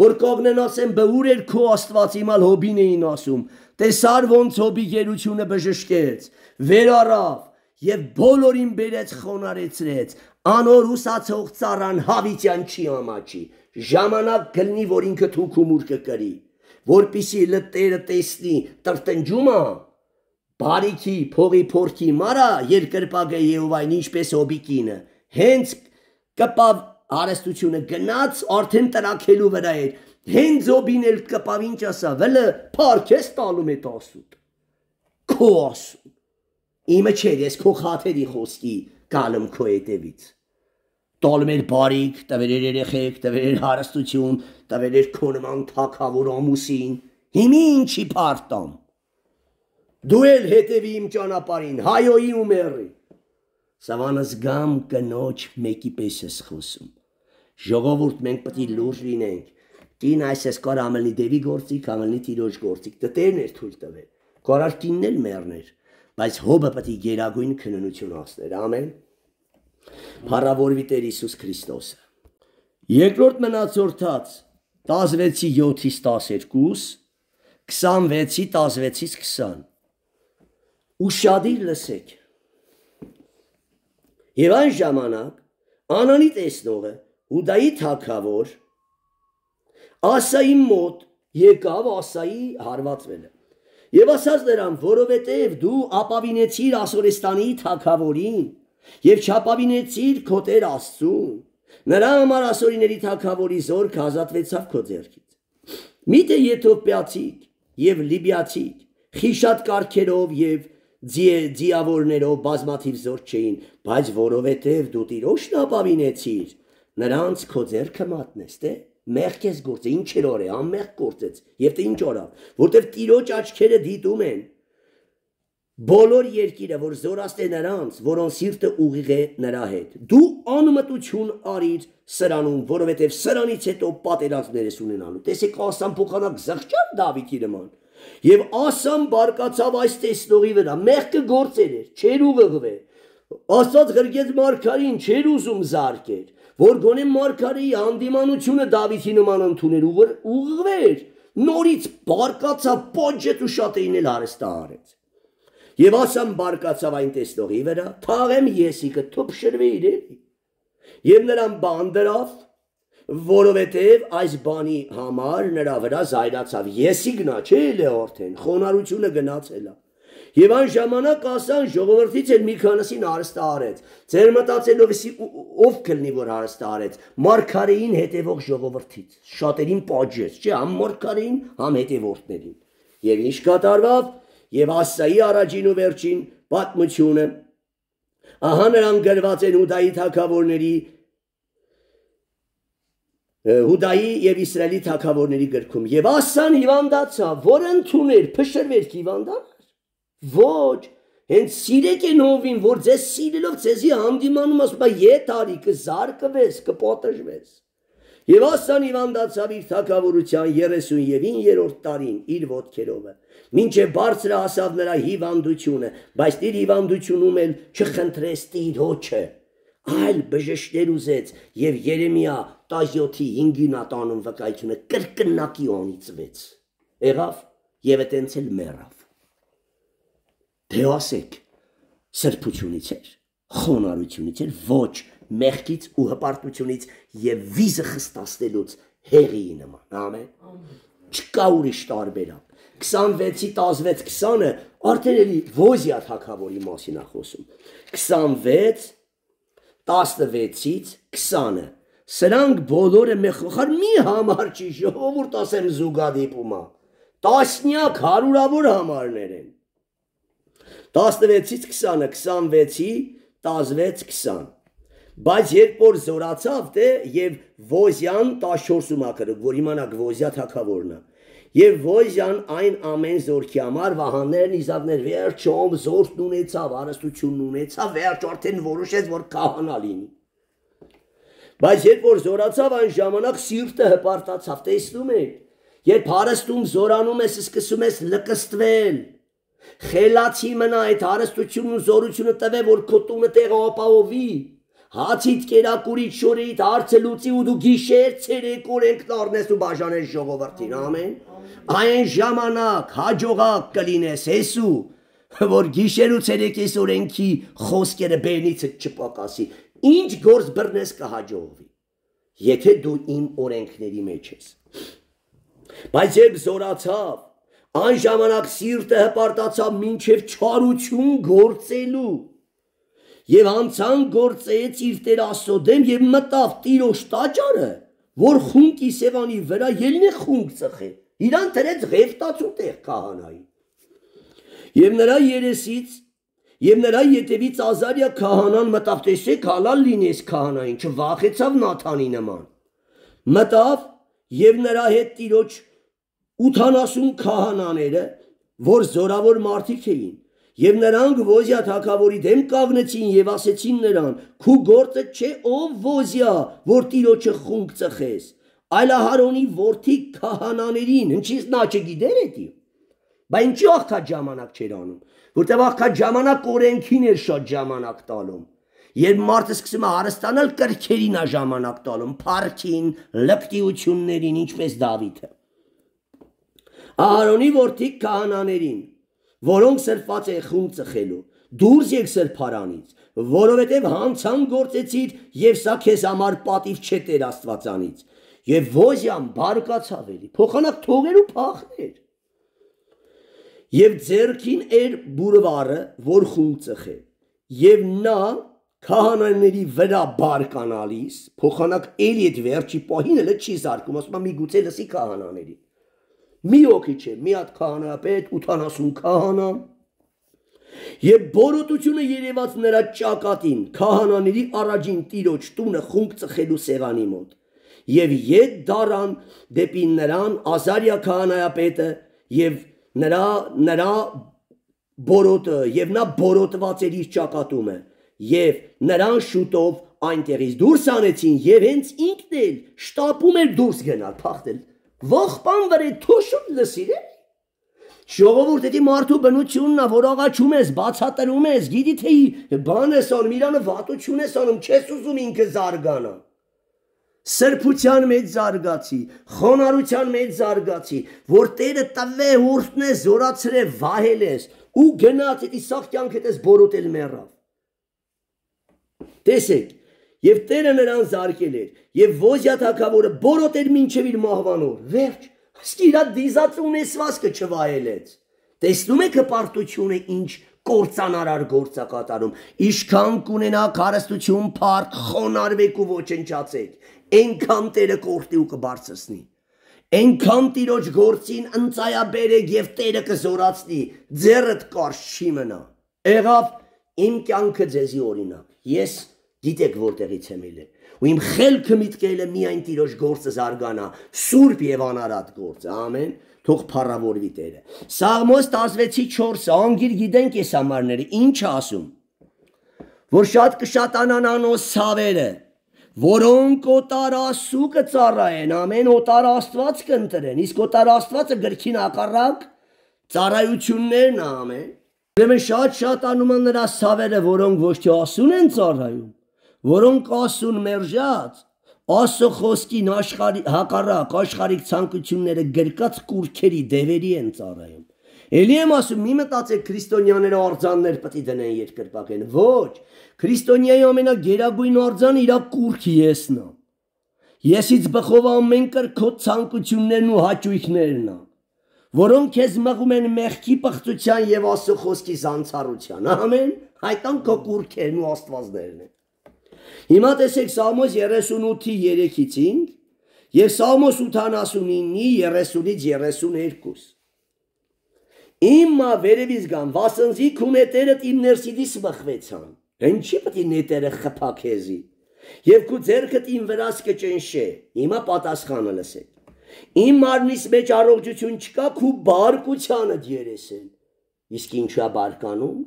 S1: որ կողնեն ասեն բուր էր քո Աստված իմալ հոբին էին ասում տեսար ոնց հոբի գերությունը բժշկեց վեր առավ Եվ բոլորին բերեց խոնարեցրեց, անոր ուսացող ծառան հավիտյան չի ամաչի, ժամանակ գլնի, որ ինքը թուք ու մուր կկրի, որպիսի լտերը տեսնի տրտնջումը, բարիքի, փողի փորքի մարա, երկրպագը Եհովային ինչպես հոբի կինը, հենց կպավ հարստությունը գնաց, արդեն տրաքելու վրա էր, հենց հոբին էլ կպավ ինչ ասա, վլը փարքես տալում է տասուտ, քո ասում, Իմը չէր, ես քո խաթերի խոսքի գալում քո հետևից Տալում էր բարիք, տվել էր երեխեք, տվել էր հարստություն, տվել էր քո նման թագավոր ամուսին Հիմի ինչի փարտամ Դու էլ հետևի իմ ճանապարհին, հայոյի ու մեռի Սավանս գամ կնոջ մեկի պես ես խոսում Ժողովուրդ մենք պետք է լուրջ լինենք Տին այսպես կար ամենի դևի գործիկ, ամենի Տիրոջ գործիկ Տերն էր թույլ տվել Կարար տինն էլ մեռներ Բայց հոբը պետք է գերագույն քննություն հասներ, ամեն Փառավորվի Տեր Հիսուս Քրիստոսը Երկրորդ մնացորդած տասնվեցի յոթից տասներկուս, քսանվեցի տասնվեցից քսան Ուշադիր լսեք Եվ այն ժամանակ Անանի տեսնողը Հուդայի թագավոր Ասայի մոտ եկավ Ասայի հարվածվելը Եվ ասաց նրան, որովհետև դու ապավինեցիր Ասորեստանի թագավորին եւ չապավինեցիր քո Տեր Աստծուն, նրա համար Ասորիների թագավորի զորքը ազատվեցավ քո ձեռքից։ Միթե եթովպիացիք եւ լիբիացիք, խիշատ կարգերով եւ ձիավորներով բազմաթիվ զոր չէին, բայց որովհետև դու Տիրոջն ապավինեցիր, նրանց քո ձեռքը մատնես, թե Մեղք ես գործը, ինչ էր օր է, անմեղք գործեց, և թե ինչ օրավ, որտև Տիրոջ աչքերը դիտում են, բոլոր երկիրը, որ զորաստ է նրանց, որոնց սիրտը ուղիղ է նրա հետ, դու անմտություն արիր սրանում, որովհետև սրանից հետո պատերազմներ ես ունենալու, տեսեք Ասան փոխանակ զղջավ Դավիթի նման, և Ասան բարկացավ այս տեսնողի վրա, մեղքը գործեր էր, չէր ուղղվել, Աստված գրկեց մարգարին, չէր ուզում զարկեր, որ գոնե մարգարեի հանդիմանությունը Դավիթի նման ընդուներ ուղղվեր, նորից բարկացավ պոջետ ու շատերին էլ հարստահարեց։ Եվ Ասան բարկացավ այն տեսնողի վրա, թաղեմ եսիկը թոփշրվեիր էլի։ Եվ նրան բան դրավ, որովհետև այս բանի համար նրա վրա զայրացավ, եսիգնա չէ էլ է արդեն, խոնարհությունը գնացել է։ Եվ այն ժամանակ Ասան ժողովրդից էլ մի քանիսին հարստահարեց, ձեր մտածելով ով կլինի, որ հարստահարեց, մարգարեին հետևող ժողովրդից, շատերին պատժեց, չէ, համ մարգարեին, համ հետևորդներին։ Եվ ինչ կատարվավ, եւ Ասայի առաջին ու վերջին պատմությունը, ահա նրան գրված են Հուդայի թագավորների, Հուդայի եւ Իսրայելի թագավորների գրքում, եւ Ասան հիվանդացավ, որ ընդուներ, փշրվեր հիվանդանալ։ Ոչ, հենց սիրեք են հովին, որ ձեզ սիրելով ձեզի հանդիմանում ասում է ետ արի, կզարկվես, կպատժվես։ Եվ Ասան հիվանդացավ իր թագավորության երեսունևիններորդ տարին իր ոտքերովը, մինչև բարձր հասավ նրա հիվանդությունը, բայց իր հիվանդությունում էլ չխնդրեց Տիրոջը, այլ բժշկներ ուզեց եւ Երեմիա տասնյոթի հինգին ատանում վկայությունը կրկնակի անիծվեց։ Եղավ եւ այտենց էլ մեռավ։ Դե ասեք, սրբությունից էր, խոնարհությունից էր, ոչ, մեղքից ու հպարտությունից եւ վիզը խստացնելուց հեղիի նման, ամեն։ Չկա ուրիշ տարբերակ։ քսանվեցի տասնվեց քսանը արդեն էլի Ոզիա թագավորի մասին է խոսում։ քսանվեց տասնվեցից քսանը սրանք բոլորը մեխոխար մի համար չի ժողովուրդ ասեմ զուգադիպումա տասնյակ հարյուրավոր համարներ են տասնվեցից քսանը քսանվեցի տասնվեց քսան բայց երբ որ զորացավ դե եւ Ոզիան տասնչորսում ակրը որ իմանաք Ոզիա թագավորն է եւ Ոզիան այն ամեն զորքի համար վահաններն իզակներ վերջում զորքն ունեցավ հարստությունն ունեցավ վերջ արդեն որոշեց որ քահանա լինի բայց երբ որ զորացավ այն ժամանակ սիրտը հպարտացավ տեսնում եք երբ հարստում զորանում ես սկսում ես լկստվել խելացի մնա այդ հարստությունն ու զորությունը տվե որ քո տունը տեղը ապահովի հացիդ կերակուրից շորից հարցը լուծի ու դու գիշեր ցերեկորեն կդառնես ու բաժանես ժողովրդին ամեն այն ժամանակ հաջողակ կլինես հեսու որ գիշեր ու ցերեկես օրենքի խոսքերը բերնիցը չպակասի ինչ գործ բռնես կհաջողվի եթե դու իմ օրենքների մեջ ես բայց երբ զորացավ այն ժամանակ սիրտը հպարտացավ մինչև չարություն գործելու եւ անցան գործեց իր Տեր Աստծո դեմ եւ մտավ Տիրոջ տաճարը որ խունկի սևանի վրա ելնի խունկ ծխե իրան դրեց ղեֆտացու տեղ քահանայի եւ նրա երեսից եւ նրա ետևից Ազարիա քահանան մտավ տեսեք հալալ լինես քահանային չվախեցավ Նաթանի նման մտավ եւ նրա հետ Տիրոջ ութանասուն քահանաները որ զորավոր մարդիկ էին եւ նրանք Ոզիա թագավորի դեմ կանգնեցին եւ ասեցին նրան քու գործը չէ ով Ոզիա որ Տիրոջը խունկ ծխես այլ Ահարոնի որդի քահանաներին ինչից նա չգիտեր էդի բայց ինչի աղքատ ժամանակ չէր անում որտեղ աղքատ ժամանակ օրենքին էր շատ ժամանակ տալում երբ մարդը սկսում է հարստանալ կրքերին է ժամանակ տալում փառքին լկտիություններին ինչպես Դավիթը Ահարոնի որդի քահանաներին որոնք սրբված է խունկ ծխելու դուրս եկ սրբարանից որովհետև հանցան գործեցիր եւ սա քեզ համար պատիվ չէ Տեր Աստվածանից եւ Ոզիան բարկացավ էլի փոխանակ թողեր ու փախներ եւ ձերքին էր բուրվարը որ խունկ ծխե եւ նա քահանաների վրա բարկանալիս փոխանակ էլի այդ վերջի պահին էլ չի զարկում ասում մի գուցե լսի քահանաների մի օքի չէ մի հատ քահանայապետ ութանասուն քահանա եւ բորոտությունը երևաց նրա ճակատին քահանաների առաջին Տիրոջ տունը խունկ ծխելու սեղանի մոտ եւ ետ դարան դեպի նրան Ազարիա քահանայապետը եւ նրա նրա բորոտը եւ նա բորոտված էր իր ճակատումը եւ նրան շուտով այնտեղից դուրս անեցին եւ հենց ինքն էլ շտապում էր դուրս գնալ փախնել Ողբան վրե թոշուն լսիր է Ժողովուրդ էդի մարդու բնությունն է որ աղաչում ես բացատրում ես գիտի թե բան ես անում իրանը վատություն ես անում չես ուզում ինքը զարգանա սրբության մեջ զարգացի խոնարհության մեջ զարգացի որ Տերը տվե ուրտնե զորացրե վահել ես ու գնաց էդի սաղ կյանքդ ես բորոտել մեռավ տեսեք Եվ Տերը նրան զարկել էր, եւ Ոզիա թագավորը բորոտեր մինչև իր մահվանոր, վերջ, իսկ իր դիզած ունեցվածքը չվայելեց։ Տեսնում եք հպարտությունը ինչ կործանարար գործ է կատարում, ինչքան կունենաք հարստություն, փառք, խոնարհվեք ու ոչնչացեք, այնքան Տերը կորտի ու կբարձրացնի։ Այնքան Տիրոջ գործին ընծայաբերեք եւ Տերը կզորացնի, ձեռդ կարճ չի մնա։ Եղավ իմ կյանքը ձեզի օրինակ։ Ես Գիտեք որտեղից եմ ելել ու իմ խելքը միտքել է միայն Տիրոջ գործը զարգանա սուրբ եւ անարատ գործը ամեն թող փառավորվի Տերը Սաղմոս տասնվեցի չորսը անգիր գիտենք այս համարները ինչ ասում որ շատ կշատանան անոս ցավերը որոնք օտար Աստծու կծառայեն ամեն օտար Աստված կընտրեն իսկ օտար Աստվածը գրքին հակառակ ծառայություններն ամեն ուրեմն շատ շատանում են նրա ցավերը որոնք ոչ թե Աստծուն են ծառայում որոնք Աստծուն մերժած Աստծո խոսքին աշխարհի հակառակ աշխարհիկ ցանկությունները գրկած կուրքերի դևերի են ծառայում Էլի եմ ասում, մի մտածեք քրիստոնյաները արձաններ պետք է դնեն երկրպագեն։ Ոչ, քրիստոնյայի ամենագերագույն արձանը իր կուրքի եսն է։ Եսից բխով ամեն կրքո ցանկություններն ու հաճույքներն է, որոնք քեզ մղում են մեղքի պղծության եւ Աստծո խոսքի զանցառության։ Ամեն, հայտան քո կուրքերն ու աստվածներն են։ Հիմա տեսեք Սաղմոս երեսունութի երեքից cinci եւ Սաղմոս ութանասունինի երեսունից երեսուներկու։ Իմա վերևից գան, վասնզի քու նետերդ իմ ներսիդից մխվեցան։ Ինչի՞ պետք է նետերը խփակեզի։ Եվ քու ձեռքդ իմ վրաս կճնշե։ Հիմա պատասխանը լսեք։ Իմ մարմնիս մեջ առողջություն չկա, քու բարկությանդ երեսեն։ Իսկ ինչա բարկանում։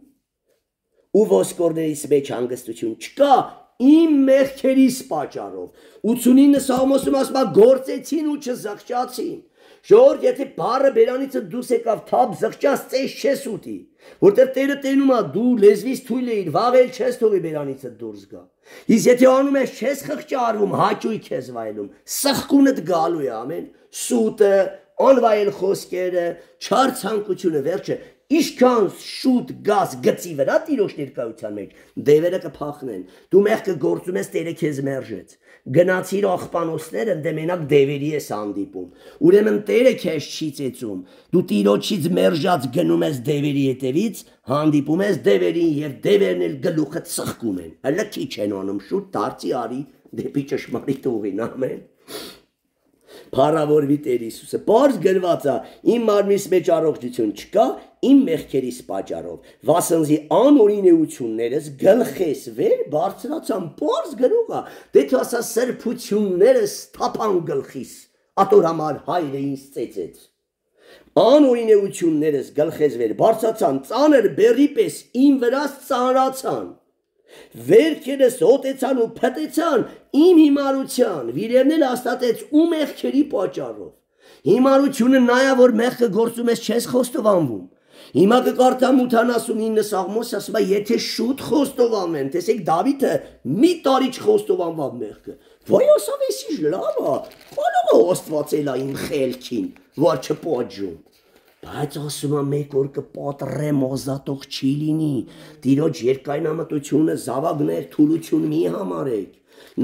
S1: Ու ոսկորներից մեջ հանգստություն չկա, իմ մեղքերիս պատճառով։ ութունինը Սաղմոսում ասում է գործեցին ու չզղջացին։ Ժողովուրդ, եթե բառը բերանիցը դուրս եկավ թափ զղջաց ծես չես ուտի, որտեղ Տերը տենում է դու լեզվից թույլ էիր, վաղել չես թողի բերանիցը դուրս գա։ Իսկ եթե անում ես չես խղճարվում, հաճույք ես վայելում, սխկունդ գալու է, ամեն, սուտը, անվայել խոսքերը, չար ցանկությունը, վերջը, Իշքան շուտ գազ գծի վրա տիրոջ ներկայության մեջ դևերը կփախնեն դու մեղքը գործում ես Տերը քեզ մերժեց գնացիր աղբանոցները դե մենակ դևերի ես հանդիպում ուրեմն Տերը քեզ չի ծեծում դու տիրոջից մերժած գնում ես դևերի հետևից հանդիպում ես դևերին եւ դևերն էլ գլուխը ծխկում են հələ քիչ են անում շուտ դարձի արի դեպի ճշմարիտ ուղին ամեն Փառավորվի Տեր Հիսուսը բարձ գրված է իմ մարմնիս մեջ առողջություն չկա իմ մեղքերիս պատճառով վասնզի անօրինություններս գլխես վեր բարձրացան բարձ գրող է դե თუ ասա սրբություններս թափան գլխիս ատոր համար հայրը ինձ ծեծեց անօրինություններս գլխես վեր բարձրացան ծանր բերի պես իմ վրա ծանրացան Վերքերս հոտեցան ու փտեցան իմ հիմարության, վիրևն էլ հաստատեց ու մեղքերի պատճառով։ Հիմարությունը նայա, որ մեղքը գործում ես չես խոստովանվում։ Հիմա կկարդամ ութանասունինը Սաղմոս ասում է, եթե շուտ խոստովանեն, տեսեք Դավիթը մի տարի չխոստովանավ մեղքը։ Վայ ասավ էսի լավ է, բանալը Աստվածել է իմ խելքին, որ չպոջում։ Բայց ասում է մեկ օր կպատրեմ ազատող չի լինի Տիրոջ երկայնամտությունը զավակներ թուլություն մի համարեք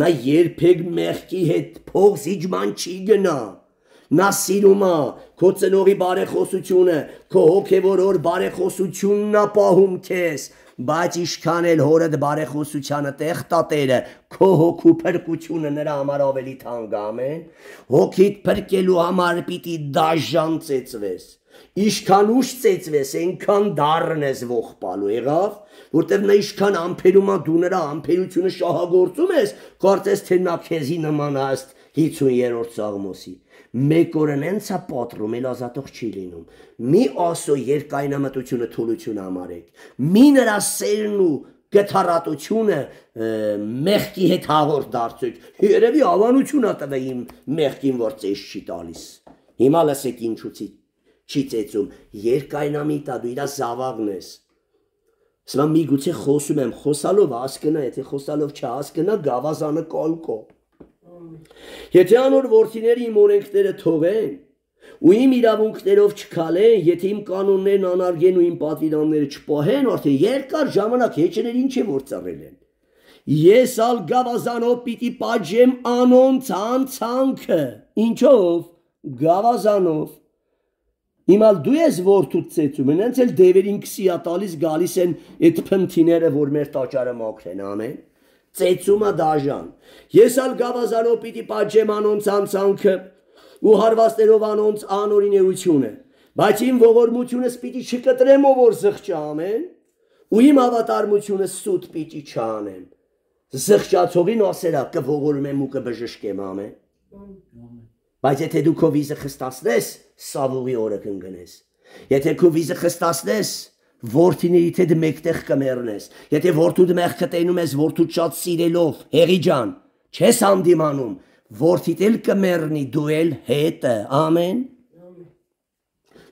S1: Նա երբեք մեղքի հետ փող զիջման չի գնա Նա սիրում է քո ծնողի բարեխոսությունը քո հոգևոր բարեխոսությունն է պահում քեզ բայց ինչքան էլ հորդ բարեխոսությանը տեղ տա Տերը քո հոգու փրկությունը նրա համար ավելի թանկ է ամեն հոգիդ փրկելու համար պիտի դաժան ծեծվես Իշքան ուշ ծեծվես, այնքան դառն ես ողբալու եղավ, որտեղ նա իշքան ամփերում է դու նրա ամփերությունը շահագործում ես, կարծես թե նա քեզի նման է ըստ հինգերորդ Սաղմոսի։ Մեկ օրն հենց է պատռում, էլ ազատող չի լինում։ Մի ասո երկայնամտությունը թուլություն համարեք։ Մի նրա սերն ու գթառատությունը մեղքի հետ հաղորդ դարձեք։ Երևի ավանություն ա տվել իմ մեղքին, որ ծես չի տալիս։ Հիմա լսեք ինչուց Չի ծեծում, երկայնամիտ է, դու իրա զավաղն ես Սվա մի գուցե խոսում եմ, խոսալով հասկնա, եթե խոսալով չհասկնա, գավազանը կալկո Եթե անոր որդիները իմ օրենքները թողեն ու իմ իրավունքներով չքալեն, եթե իմ կանոններն անարգեն ու իմ պատվիրանները չպահեն, արդեն երկար ժամանակ հեչներ ինչ է որ ծառել են Ես ալ գավազանով պիտի պատժեմ անոնց անցանքը Ինչով, գավազանով Հիմալ դու ես որդուդ ծեծում են, հենց էլ դևերին քսիա տալիս գալիս են այդ փնթիները, որ մեր տաճարը մաքրեն, ամեն, ծեծումը դաժան, ես ալ գավազանով պիտի պատժեմ անոնց անցանքը ու հարվածներով անոնց անօրինեությունը, բայց իմ ողորմությունս պիտի չկտրեմ ով որ զղջա, ամեն, ու իմ հավատարմությունս սուտ պիտի չանեմ, զղջացողին ասերա կողորում եմ ու կբժշկեմ, ամեն, Բայց եթե դու քո վիզը խստացնես, սավուղի օրը կընկնես։ Եթե քո վիզը խստացնես, որդիներիդ հետ մեկտեղ կմեռնես։ Եթե որդուդ մեղքը տենում ես որդուդ շատ սիրելով, հեղի ջան, չես հանդիմանում, որդիդ էլ կմեռնի, դու էլ հետը, ամեն։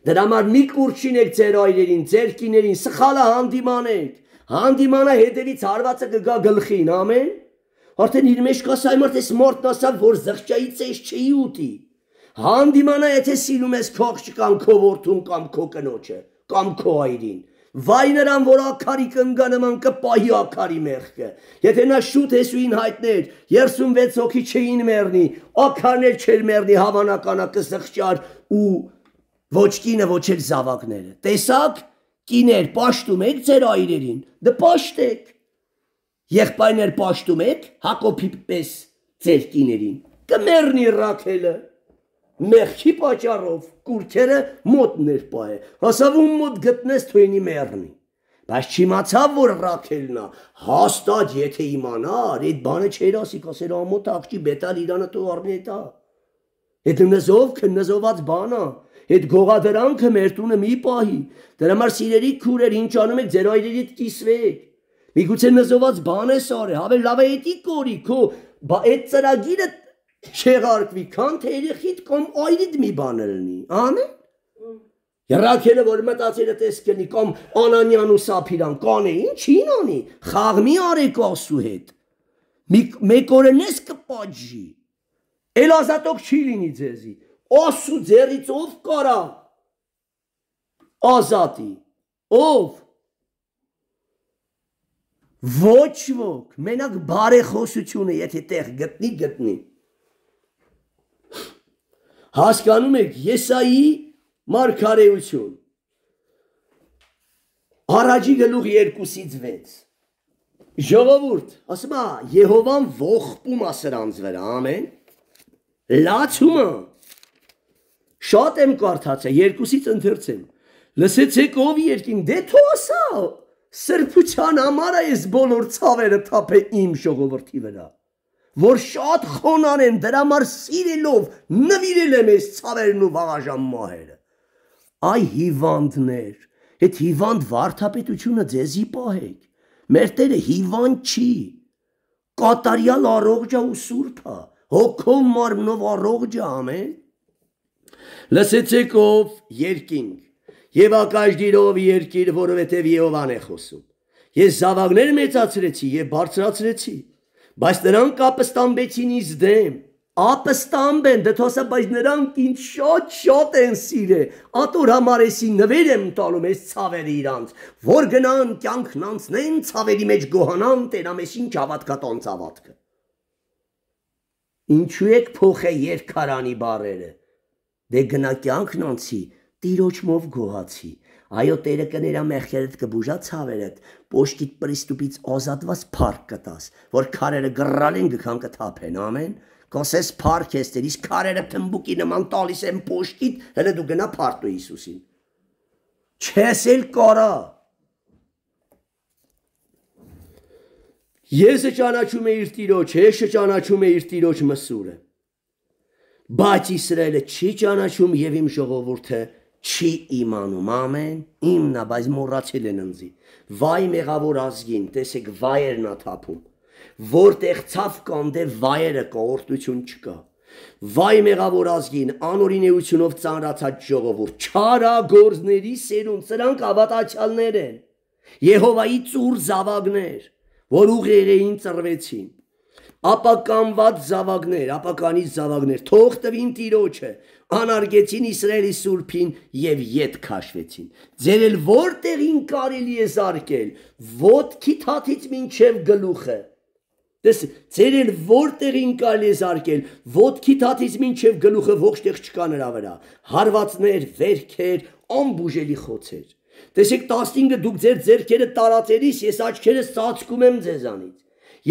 S1: Դրա համար մի կուրչինեք ձեր այրերին, ձեր կիներին, սխալը հանդիմանեք, հանդիմանա հետևից հարվածը կգա գլխին, ամեն։ Արդեն իր մեջ կաս այ մարդ ես մարդն ասավ, որ զղջայից ես չի ուտի։ Հանդիմանա, եթե սիրում ես քո աղջկան, քո որդուն կամ քո կնոջը, կամ քո այրին։ Վայ նրան, որ ակարի կնգանման կպահի ակարի մեղքը։ Եթե նա շուտ Հեսուին հայտներ, երեսունվեց հոգի չէին մեռնի, ակարներ չէր մեռնի, հավանականա կզղճար ու ոչ կինը, ոչ էլ զավակները։ Տեսակ, կիներ, պաշտում եք ձեր այրերին, դե պաշտեք։ Եղբայրներ պաշտում եք Հակոբի պես ձեր կիներին, կմեռնի Ռաքելը։ Մեղքի պատճառով կուրքերը մոտներ պահե, հասավ ում մոտ գտնես թույնի մեռնի։ Բայց չիմացավ, որ Ռաքելն է, հաստատ եթե իմանար, այդ բանը չէր ասի, կասեր ամոթ աղջի բետալ իրանը թող առնի էտա։ Այդ նզով քննզոված բան է, այդ գողադրանքը մեր տունը մի պահի, դրա համար սիրելի քուրեր, ինչ անում եք, ձեր այրերիդ կիսվեք։ Միգուցե նզոված բան ես արել, հավել լավ է էդի կորի, քո այդ ծրագիրը չեղարկվի, քան թե երեխիդ կամ այրիդ մի բան լինի, ամեն։ Ռաքելը, որ մտածել է տես կլինի, կամ Անանյան ու Սափիրան, կանե, ինչին անի, խաղ մի արեք Աստծու հետ, մեկ օրն ես կպատժի, էլ ազատոք չի լինի ձեզի, Աստծու ձեռից ով կարա ազատի, ով, ոչ ոք, մենակ բարեխոսությունը, եթե տեղ գտնի, գտնի։ Հասկանում եք Եսայի մարգարեություն, առաջի գլուխ երկուսից վեց, ժողովուրդ, ասում է, Եհովան ողբում է սրանց վրա, ամեն, լացումը, շատ եմ կարդացել, երկուսից ընթերցեմ, լսեցեք ով երկին, դե թո ասա, սրբության համար է ես բոլոր ցավերը թափե իմ ժողովրդի վրա, որ շատ խոնան են, դրա համար սիրելով նվիրել եմ ես ցավերն ու վաղաժամ մահերը։ Այ հիվանդներ, այդ հիվանդ վարդապետությունը ձեզի պահեք, մեր Տերը հիվանդ չի, կատարյալ առողջ է ու սուրբ է, հոգով մարմնով առողջ է, ամեն։ Լսեցեք ով երկինք, եւ ակաշդիրով երկիր, որովհետեւ Եհովան է խոսում։ Ես զավակներ մեծացրեցի եւ բարձրացրեցի, բայց նրանք ապստամբեցին ինձ դեմ, ապստամբ են, դե թոսա, բայց նրանք ինձ շատ շատ են սիրել, ատոր համար էսի նվեր եմ տալում ես ցավերը իրանց, որ գնան կյանքն անցնեն, ցավերի մեջ գոհանան, տենամես ինչ հավատքատան ցավատքը։ Ինչու եք փոխե երկարանի բարերը, դե գնա կյանքն անցի, Տիրոջմով գոհացի, այո Տերը կներա մեղքերդ կբուժա ցավերդ, պոշտիտ պրիստուպից ազատված փառք կտաս, որ քարերը գրալեն գքան կթափեն, ամեն, կասես փառք ես Տեր, իսկ քարերը թմբուկի նման տալիս են պոշտիտ, հələ դու գնա փառտու Հիսուսին։ Չես էլ կարա։ Եսը ճանաչում է իր Տիրոջ, հեշը ճանաչում է իր Տիրոջ մսուրը, բայց Իսրայելը չի ճանաչում եւ իմ ժողովուրդը չի իմանում, ամեն, իմնա, բայց մոռացել են ընձի, վայ մեղավոր ազգին, տեսեք վայերն ա թափում, որտեղ ցավ կան, դե վայերը կա, օրհնություն չկա, վայ մեղավոր ազգին, անօրինեությունով ծանրացած ժողովուրդ, չարագործների սերունդ, սրանք ավատացյալներ են, Եհովայի ծուր զավակներ, որ ուղեղեին ծռվեցին, ապականված զավակներ, ապականից զավակներ, թող տվին Տիրոջը, անարգեցին Իսրայելի սուրբին եւ ետ քաշվեցին։ Ձեր էլ որտեղին կարելի է զարկել, ոտքի թաթից մինչև գլուխը։ Դες ձեր էլ որտեղին կարելի է զարկել, ոտքի թաթից մինչև գլուխը ողջտեղ չկա նրա վրա։ Հարվածներ, վերքեր, անբուժելի խոցեր։ Տեսեք տասնինը դուք ձեր ձեռքերը տարածելիս ես աչքերս ծածկում եմ ձեզանից։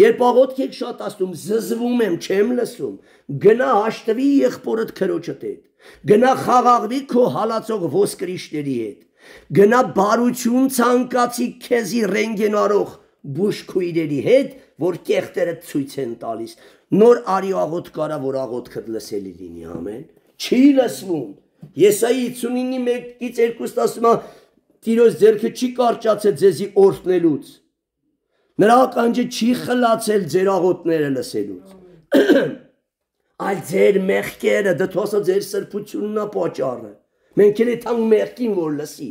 S1: Երբ աղոթք եք շատացնում, զզվում եմ, չեմ լսում, գնա հաշտվի եղբորդ քրոջդ հետ, գնա խաղաղվի քո հալածող ոսկրիչների հետ, գնա բարություն ցանկացի քեզի ռենտգեն արող բուժքույրերի հետ, որ կեղտերը ցույց են տալիս, նոր արի աղոթք կարա, որ աղոթքդ լսելի լինի, ամեն, չի լսվում, Եսայի հիսունինի մեկից երկուստ ասում է, Տիրոջ ձեռքը չի կարճացել ձեզի օրհնելուց, նրա ականջը չի խլացել ձեր աղոթքները լսելուց, այլ ձեր մեղքերը, դթոսը ձեր սրբությունն է պատճառը, մենք էլ էթան մեղքին որ լսի,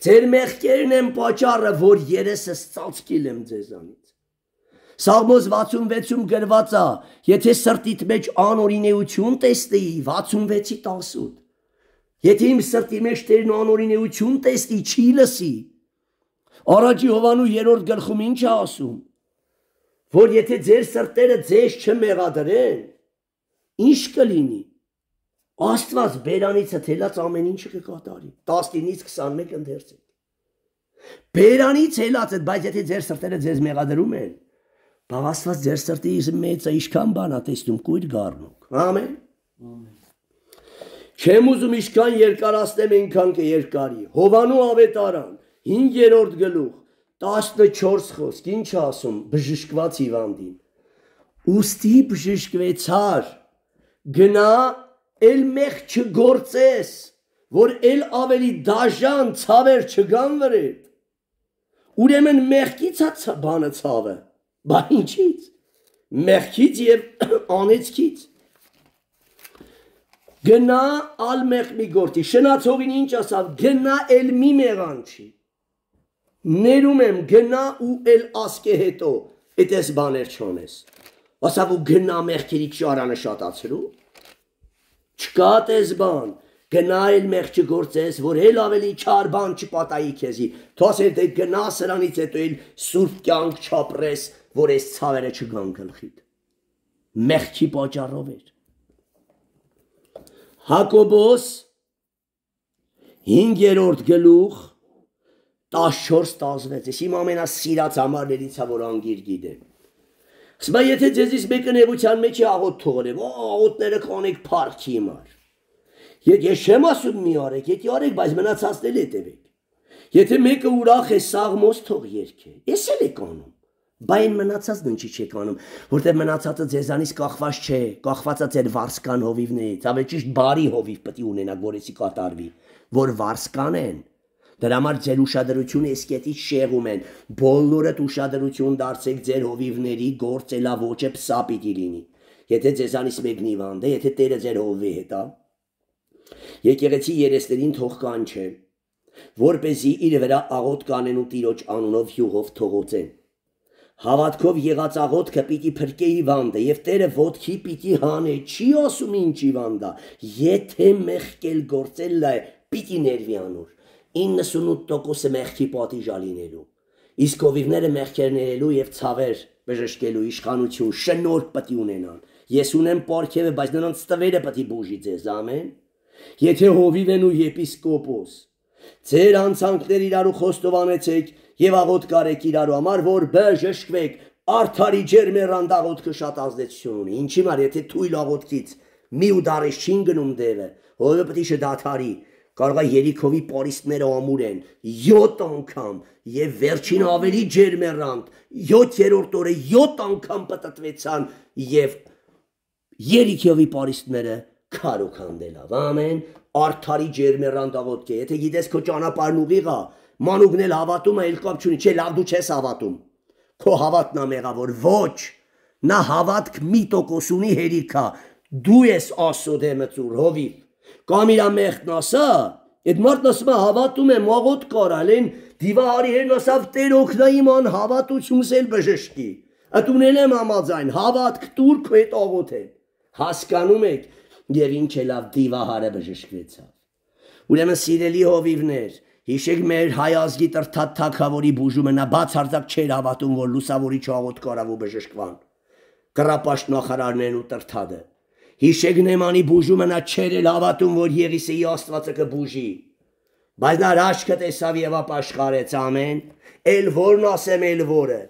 S1: ձեր մեղքերն են պատճառը, որ երեսս ծածկիլ եմ ձեզանից, Սաղմոս վաթսունվեցում գրված է, եթե սրտիդ մեջ անօրինեություն տեսնեի, վաթսունվեցի տասուտ, Եթե իմ սրտի մեջ Տերն անօրինեություն տեսնի, չի լսի։ Առաջի Հովանու երրորդ գլխում ինչ է ասում, որ եթե ձեր սրտերը ձեզ չմեղադրեն, ինչ կլինի։ Աստված բերանիցը թելած ամեն ինչը կկատարի։ տասնինից քսանմեկ ընթերցեք։ Բերանից հելած է, բայց եթե ձեր սրտերը ձեզ մեղադրում են, բաղ Աստված ձեր սրտի մեծը ինչքան բան է տեսնում, կույր գառնուկ։ Ամեն։ Չեմ ուզում ինչքան երկարացնեմ, այնքան կերկարի։ Հովանու ավետարան, հինգերորդ գլուխ, տասնչորս խոսք, ինչ ասում, բժշկված հիվանդին։ Ուստի բժշկվեցար, գնա, էլ մեղ չգործես, որ էլ ավելի դաժան ցավեր չգան վրեդ։ Ուրեմն մեղքից է բանը ցավը, բա ինչից, մեղքից և անեցքից։ Գնա ալ մեղ մի գործի, շնացողին ինչ ասավ, գնա էլ մի մեղանչի։ Ներում եմ, գնա ու էլ ասկե հետո, էտ ես բաներ չոնես։ Ասավ ու գնա մեղքերի ճարանը շատացրու, չկա տես բան, գնա էլ մեղ չգործես, որ էլ ավելի չար բան չպատայի քեզի, թասեր դե գնա սրանից հետո էլ սուրբ կյանք չապրես, որ ես ցավերը չգան գլխիդ։ Մեղքի պատճառով էր։ Հակոբոս հինգերորդ գլուխ տասնչորս տասնվեց, ես իմ ամենասիրած համարներից է, որ անգիր գիտեմ։ Սմա եթե ձեզից մեկը նեղության մեջ է աղոտ թողնեմ, աղոտները կանեք փառքի համար։ Ես չեմ ասում մի արեք, եթե արեք, բայց մնացածն էլ հետևեք։ Եթե մեկը ուրախ է, սաղմոս թող երգե, ես էլ եք անում, բա այն մնացածն ինչի չեք անում, որտեղ մնացածը ձեզանից կախված չէ, կախված է ձեր վարսկան հովիվներից, ավելի ճիշտ բարի հովիվ պետք է ունենաք, որեցի կատարվի, որ վարսկան են։ Դրա համար ձեր ուշադրությունը էսկետից շեղում են, բոլորդ ուշադրություն դարձեք ձեր հովիվների գործելավոճը պսա պիտի լինի։ Եթե ձեզանից մեկն հիվանդ է, եթե Տերը ձեր հովվի հետ է, եկեղեցի երեսներին թող կանչե, որպեսզի իր վրա աղոտ կանեն ու Տիրոջ անունով յուղով թողոցեն։ Հավատքով եղած աղոթքը պիտի փրկե հիվանդը եւ Տերը ոտքի պիտի հանե, չի ասում ինչ հիվանդա, եթե մեղքել գործել է, պիտի ներվի անոր։ իննսունութ տոկոսը մեղքի պատիժ լինելու, իսկ հովիվները մեղքեր ներելու եւ ցավեր բժշկելու իշխանություն, շնորհք պետք է ունենան։ Ես ունեմ պարգևը, բայց նրանց տվերը պետք է բուժի ձեզ, ամեն։ Եթե հովիվ են ու եպիսկոպոս, ձեր անցանքներ իրարու խոստովանեցեք եւ աղոտ կարեք իրարու համար, որ բժշկվեք, արդարի ջերմեռանդ աղոթքը շատ ազդեցություն ունի։ Ինչի համար, եթե թույլ աղոթքից մի ու դարես չին գնում դևը, հովիվը պետք է շդադարի։ Կարող է երիքովի պարիսպները ամուր են, յոթ անգամ եւ վերջին ավելի ջերմեռանդ, յոթերորդ օրը յոթ անգամ պատտվեցան եւ երիքովի պարիսպները քարոք հանդելավ, ամեն, արդարի ջերմեռանդ աղոթք է, եթե գիտես քո ճանապարհն ուղիղ է, մանուկն էլ հավատում է, էլ կապ չունի, չէ, լավ դու չես հավատում, քո հավատն է մեղավոր, ոչ, նա հավատք մի տոկոս ունի հերիքա, դու ես Աստծո դեմը ծուր, հովիվ, կամ իրա մեղքն ասա, այդ մարդն ասում է հավատում եմ, աղոտ կարալ են, դիվահարի հերն ասավ Տեր օգնա իմ անհավատությունս էլ բժշկի, ըտ ունել եմ համաձայն, հավատք տուր քո հետ աղոթել, հասկանում եք, եւ ինչ է լավ դիվահարը բժշկվեցավ։ Ուրեմն սիրելի հովիվներ, հիշեք մեր հայ ազգի տրթատ թագավորի բուժումը, նա բացարձակ չէր հավատում, որ լուսավորիչ աղոտ կարավ ու բժշկվան, կռապաշտ նախարարներն ու տրթատը։ Հիշեք Նեմանի բուժումը, նա չէր էլ հավատում, որ Եղիսեի Աստվածը կբուժի, բայց նա հրաշքը տեսավ եւ ապաշխարեց, ամեն, էլ որն ասեմ, էլ որը։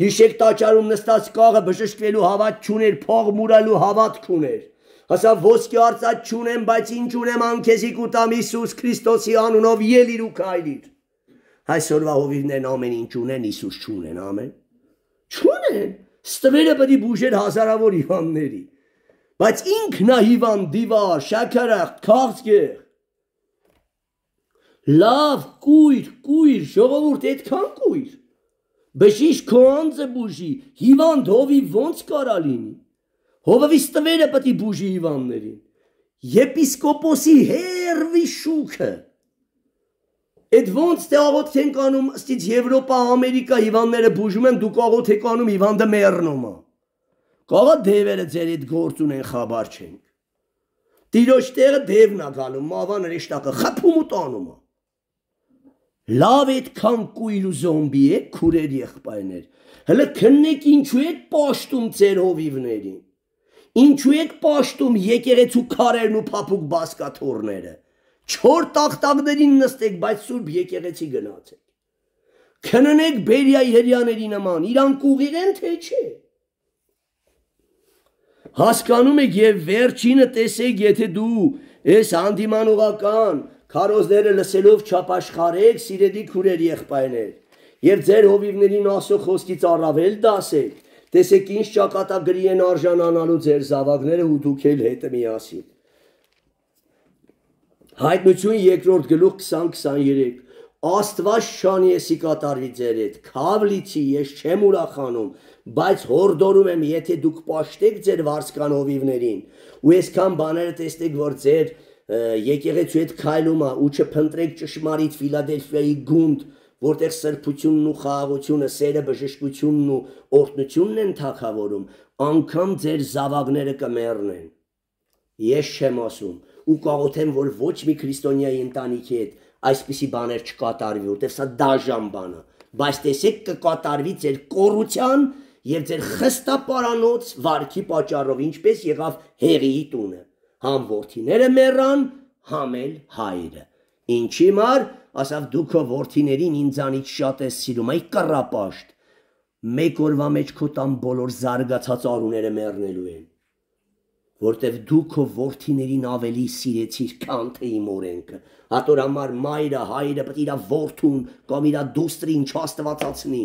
S1: Հիշեք տաճարում նստած կաղը բժշկվելու հավատ չուներ, փող մուրալու հավատք ուներ։ Ասավ ոսկի արծաթ չունեմ, բայց ինչ ունեմ անքեզի կուտամ Հիսուս Քրիստոսի անունով ելիր ու քայլիր։ Այսօրվա հովիվներն ամեն ինչ ունեն, Հիսուս չունեն, ամեն։ Չունեն, ստվերը պետք է բուժեր հազարավոր հիվանդների, բայց ինքն է հիվանդ, դիվար, շաքարախտ, քաղցկեղ։ Լավ, կույր, կույր, ժողովուրդ, այդքան կույր։ Բժիշկ քո անձը բուժի, հիվանդ հովիվ ոնց կարա լինի։ Հովավիս տվերը պետք է բուժի հիվանդներին, եպիսկոպոսի հերվի շուքը, այդ ոնց թե աղոթք ենք անում, ըստից Եվրոպա, Ամերիկա հիվանդները բուժում են, դուք աղոթք եք անում, հիվանդը մեռնում է, կաղա դևերը ձեր այդ գործ ունեն, խաբար չենք, Տիրոջ տեղը դևն ա գալում, մավան հրեշտակը խփում ու տանում ա։ Լավ այդքան կույր ու զոմբի եք, քուրեր եղբայրներ, հələ քննեք ինչու եք պաշտում ձեր հովիվներին, ինչու եք պաշտում եկեղեցու քարերն ու փափուկ բազկաթոռները, չոր տախտակներին նստեք, բայց սուրբ եկեղեցի գնացեք, քննեք Բերիայի հրեաների նման, իրանք ուղիղ են թե չէ։ Հասկանում եք եւ վերջինը տեսեք, եթե դու այս հանդիմանողական քարոզները լսելով չապաշխարեք, սիրելի քուրեր եղբայրներ, եւ ձեր հովիվներին ասո խոսքից առավել դասեք, տեսեք ինչ ճակատագրի են արժանանալու ձեր զավակները ու դուք էլ հետը միասին։ Հայտնություն երկրորդ գլուխ քսան քսաներեք Աստված շանի եսի կատարվի ձեր հետ, քավլիցի ես չեմ ուրախանում, բայց հորդորում եմ, եթե դուք պաշտեք ձեր վարձկան հովիվներին, ու այսքան բաները տեսնեք, որ ձեր եկեղեցու հետ քայլում ա, ու չփնտրեք ճշմարիտ Ֆիլադելֆիայի գունդ, որտեղ սրբությունն ու խաղաղությունը, սերը, բժշկությունն ու օրհնությունն են թագավորում, անգամ ձեր զավակները կմեռնեն։ Ես չեմ ասում, ու կաղոթեմ, որ ոչ մի քրիստոնյայի ընտանիքի հետ այսպիսի բաներ չկատարվի, որտեղ սա դաժան բան է, բայց տեսեք կկատարվի ձեր կոռության եւ ձեր խստապարանոց վարքի պատճառով, ինչպես եղավ Հեղիի տունը, համ որդիները մեռան, համ էլ հայրը։ Ինչի մար, ասավ դու քո որդիներին ինձանից շատ ես սիրում, այ կռապաշտ, մեկ օրվա մեջ քո տան բոլոր զարգացած արուները մեռնելու են, որտեվ դու քո որդիներին ավելի սիրեցիր, քան թե իմ օրենքը։ Հատոր համար մայրը, հայրը պետք է իր որդուն կամ իր դուստրին չաստվածացնի,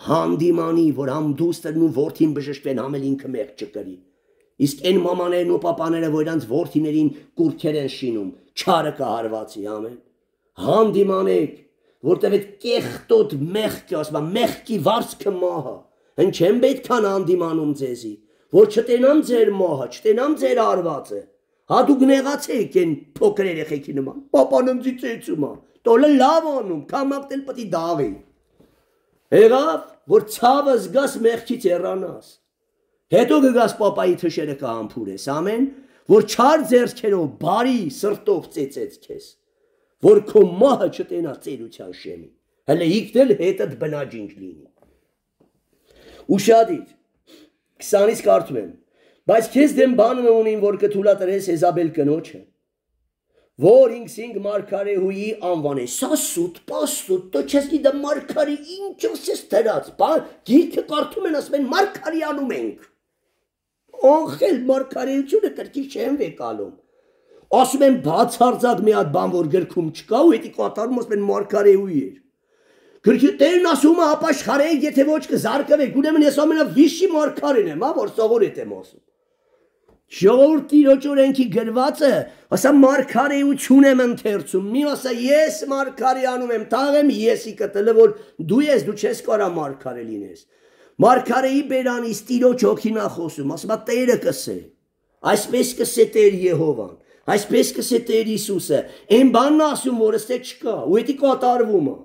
S1: հանդիմանի, որ համ դուստրն ու որդին բժշկվեն, համ էլ ինքը մեղք չկրի։ Իսկ այն մամաներն ու պապաները, որ իրանց որդիներին կուրքեր են շինում, չարը կհարվածի, ամեն։ Հանդիմանեք, որտեվ այդ կեղտոտ մեղքը, ասում եմ, մեղքի վարձքը մահը, հեն չեմ պետքան հանդիմանում ձեզի, որ չտենամ ձեր մահը, չտենամ ձեր արվածը։ Հա դուք նեղացեք են փոքր երեխեքի նման, պապան ինձ ծեծում ա, տոլը լավ անում, քամակտել պետք է դաղի։ Եղավ, որ ցավը զգաս մեղքից հեռանաս։ Հետո կգաս պապայի թշերը կհամբուրես, ամեն, որ չար ձեռքերով բարի սրտով ծեծեց քեզ, որ քո մահը չտենա ծերության շեմի, հələ իքնել հետդ բնաջինջ լինի։ Ուշադիր, քսանից կարդում եմ, բայց քեզ դեմ բանը ունին, որ կթուլատրես Եզաբել կնոջը, որ ինքսինք մարգարեհուի անվանես, սա սուտ, պասուտ, դու չես գիտեմ մարգարի ինչով ես դրած, գիրքը կարդում են, ասում են մարգարի անում ենք, անխել մարգարեությունը կրկի չեն վեկալում, ասում են բացարձակ մի հատ բան, որ գրքում չկա ու հետի կատարում, ասում են մարգարեհուի էր, գրքի տերն ասում է ապաշխարեք, եթե ոչ կզարկվեք, ուրեմն ես ամենավիշի մարգարեն եմ, որ սովորետ եմ ասում։ Ժողովուրդ Տիրոջ օրենքի գրվածը, ասա մարգարեություն եմ ընթերցում, մի ասա ես մարգարե անում եմ, թաղեմ եսի կտլը, որ դու ես, դու չես կարա մարգարե լինես։ Մարգարեի բերանից Տիրոջ հոգին ա խոսում, ասում է Տերը կսե, այսպես կսե Տեր Եհովան, այսպես կսե Տեր Հիսուսը, այն բանն ասում, որ ըստե չկա, ու հետի կատարվում է։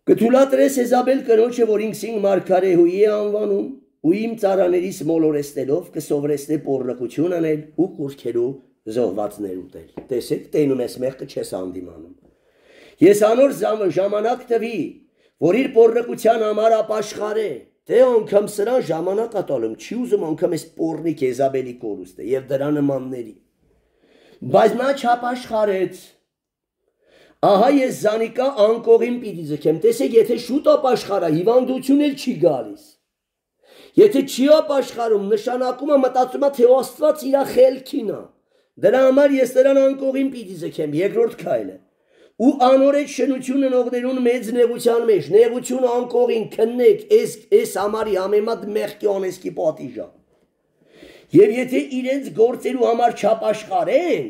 S1: Կթուլատրես Եզաբել կնոջը, որ ինքսինք մարգարեհուի է անվանում, ու իմ ծառաներից մոլորեցնելով կսովորեցնե պոռնկություն անել ու կուռքերու զոհվածներ ուտել։ Տեսեք, տենում ես մեղքը չես հանդիմանում։ Ես անոր ժամանակ տվի, որ իր պոռնկության համար ապաշխարե, թե անգամ սրան ժամանակ ատալում, չի ուզում անգամ այս պոռնիկ Եզաբելի կորուստը եւ դրա նմանների։ Բայց նա չապաշխարեց։ Ահա ես զանիկա անկողին պիտի ձգեմ, տեսեք, եթե շուտ ապաշխարա, հիվանդություն էլ չի գալիս։ Եթե չի ապաշխարում, նշանակում է մտածում է, թե Աստված իր խելքին է։ Դրա համար ես նրան անկողին պիտի ձգեմ, երկրորդ քայլը։ Ու անորեջ շնություն ընողներուն մեծ նեղության մեջ, նեղություն անկողին քննեք, այս այս համարի համեմատ մեղքի անեծքի պատիժ է։ Եվ եթե իրենց գործելու համար չապաշխարեն,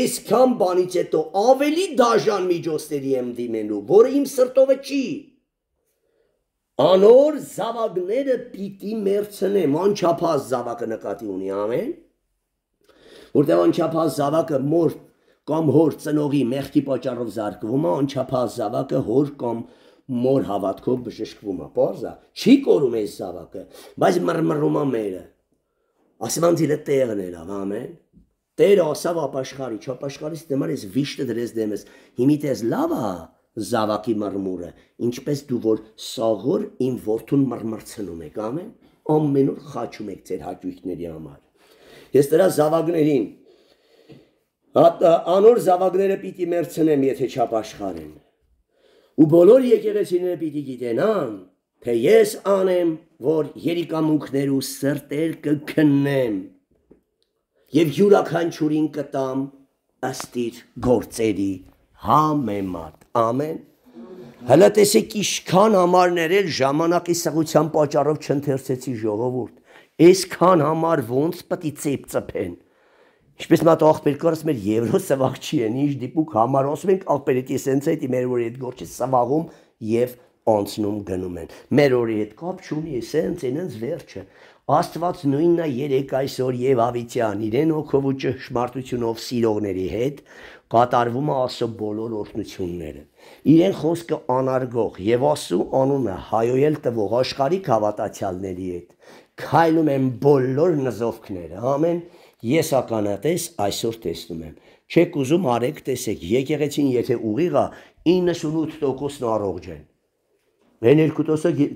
S1: այսքան բանից հետո ավելի դաժան միջոցների եմ դիմելու, որը իմ սրտովը չի։ Անոր զավակները պիտի մերցնեմ, անչափահաս զավակը նկատի ունի, ամեն, որտեղ անչափահաս զավակը մոր կամ հոր ծնողի մեղքի պատճառով զարկվում է, անչափահաս զավակը հոր կամ մոր հավատքով բժշկվում է, պարզ է, չի կորում այս զավակը, բայց մռմռում է մերը, Ասմանցիլը տեղն էր, ամեն։ Տերը ասավ ապաշխարի, չապաշխարից դեմար ես վիշտը դրես դեմես, հիմիտ ես լավ է զավակի մրմուրը, ինչպես դու որ սաղոր իմ որդուն մրմրցնում եք, ամեն, ամեն օր խաչում եք ձեր հաճույքների համար։ Ես դրա զավակներին, անոր զավակները պիտի մերցնեմ, եթե չապաշխարեն։ Ու բոլոր եկեղեցիները պիտի գիտենան, թե ես անեմ, որ երիկամունքներ ու սրտեր կքննեմ և յուրաքանչյուրին կտամ ըստ իր գործերի համեմատ, ամեն։ Հələ տեսեք իշքան համարներ էլ ժամանակի սղության պատճառով չընթերցեցի ժողովուրդ, այսքան համար ոնց պտի ծեփ ծփեն։ Ինչպես մատ աղբեր կար, ասում էր եվրո սվաղ չի են, ինչ դիպուկ համար, ասում ենք աղբեր էտի սենց էտի մեր որի հետ գործի սվաղում և անցնում գնում են։ Մեր որի հետ կապ չունի, սենց ենենց վերջը։ Աստված նույնն է երեք այսօր եւ ավիտյան իրեն հոգով ու ճշմարտությունով սիրողների հետ կատարվում է Աստծո բոլոր օրհնությունները։ Իրեն խոսքը անարգող եւ Աստծո անունը հայոյել տվող աշխարհիկ հավատացյալների հետ քայլում են բոլոր նզովքները։ Ամեն։ Ես ականատես այսօր տեսնում եմ։ Չեք ուզում արեք տեսեք, եկեղեցին եթե ուղիղ է իննսունութ տոկոսն առողջ են։ Մեն երկու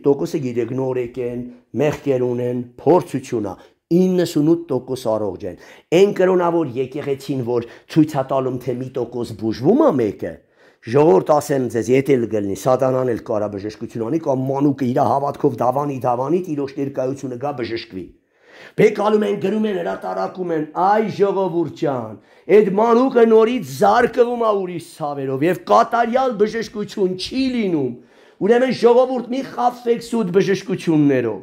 S1: տոկոսը գիտեք նորեկ են, մեղքեր ունեն, փորձություն է, իննսունութ տոկոս առողջ են։ Այն կրոնավոր եկեղեցին, որ ցույց է տալում, թե մի տոկոս բուժվում է մեկը, ժողովուրդ ասեմ ձեզ, եթե լգլնի, սատանան էլ կարա բժշկություն անի, կամ մանուկը իր հավատքով դավանի դավանի, տիրոջ ներկայությունը գա բժշկվի։ Բեկալում են, գրում են, հրատարակում են, այ ժողովուրդ ջան, այդ մանուկը նորից զարկվում է ուրիշ ցավերով եւ կատարյալ բժշկություն չի լինում։ Ուրեմն ժողովուրդ մի խաբվեք սուտ բժշկություններով։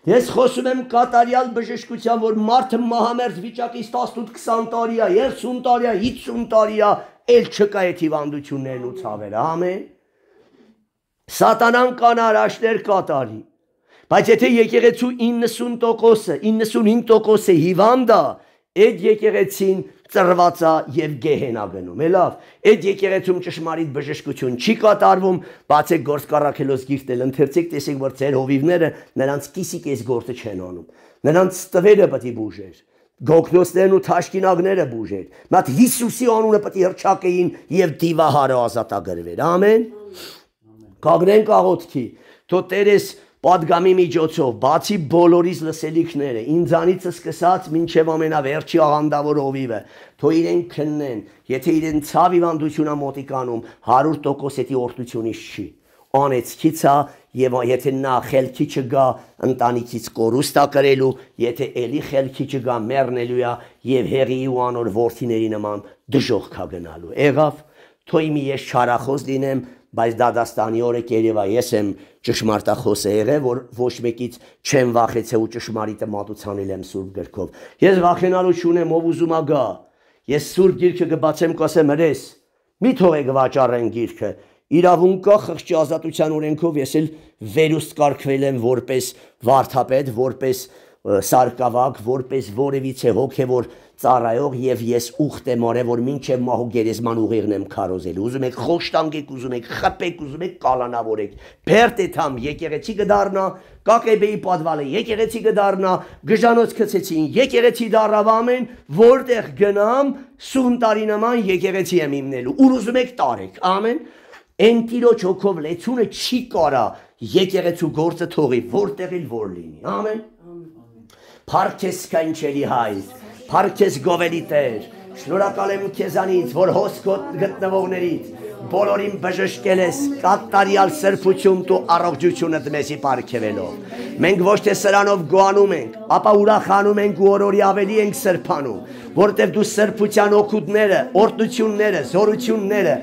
S1: Ես խոսում եմ կատարյալ բժշկության, որ մարդը մահամերձ վիճակից տասնութ քսան տարի է, երեսուն տարի է, հինգսուն տարի է, էլ չկա այդ հիվանդություններն ու ցավերը, ամեն։ Սատանան կանարաշներ կատարի։ Բայց եթե եկեղեցու իննսուն տոկոսը, իննսունհինգ տոկոսը հիվանդ է, այդ եկեղեցին ծրված է եւ գեհենա գնում, է լավ։ Այդ եկեղեցում ճշմարիտ բժշկություն չի կատարվում, բացեք գործ կառաքելոց գիրտել, ընթերցեք, տեսեք, որ ձեր հովիվները նրանց կիսիկ այս գործը չեն անում։ Նրանց տվերը պետք է բուժեր, գոգնոցներն ու թաշկինակները բուժեր։ Մատ Հիսուսի անունը պետք է հռչակեին եւ դիվահարը ազատագրվեր։ Ամեն։ Կանգնենք աղոթքի, թո Տերես պատգամի միջոցով, բացի բոլորից լսելիքները, ինձանից սկսած մինչև ամենավերջի աղանդավոր հովիվը, թո իրեն քննեն, եթե իրեն ցավ հիվանդությունը մոտիկանում, հարյուր տոկոս էդի օրհնությունից չի, անեցքից է, եւ եթե նա խելքի չգա, ընտանիքից կորուստ է կրելու, եթե էլի խելքի չգա, մեռնելու է եւ հեղի ու անոր որդիների նման դժոխք է գնալու։ Եղավ, թո իմի ես չարախոս լինեմ, բայց Դադաստանի օրը կերևա ես եմ ճշմարտախոսը եղել, որ ոչ մեկից չեմ վախեցել ու ճշմարիտը մատուցանել եմ Սուրբ գրքով։ Ես վախենալու չունեմ, ով ուզում է գա։ Ես Սուրբ գիրքը կբացեմ, կասեմ հրես, մի թողեք վաճառեն գիրքը։ Իրավունք կա խղճի ազատության օրենքով, ես էլ վերուստ կարգվել եմ որպես վարդապետ, որպես սարկավակ, որպես որևիցե հոգևոր ծառայող եւ ես ուխտ եմ արել, որ մինչեւ մահու գերեզման ուղիղն եմ քարոզել։ Ուզում եք խոշտանգեք, ուզում եք խփեք, ուզում եք կալանավորեք։ Բերտեթամ եկեղեցի կդառնա, Կակեբեի պատվալը եկեղեցի կդառնա, գժանոց գցեցին, եկեղեցի դառավ ամեն, որտեղ գնամ, սուն տարի նման եկեղեցի եմ իմնելու։ Ուր ուզում եք տարեք, ամեն։ Այն տիրոջ հոգով լեցունը չի կարա եկեղեցու գործը թողի, որտեղ էլ որ լինի, ամեն։ Փառքես կանչելի հայր, փառքես գովելի Տեր, շնորհակալ եմ քեզանից, որ հոսքոտ գտնվողներից բոլորին բժշկել ես կատարյալ սրբություն ու առողջությունդ մեզի պարգևելով։ Մենք ոչ թե սրանով գոհանում ենք, ապա ուրախանում ենք ու օրորի ավելի ենք սրբանում, որտեղ դու սրբության օգուտները, օրհնությունները, զորությունները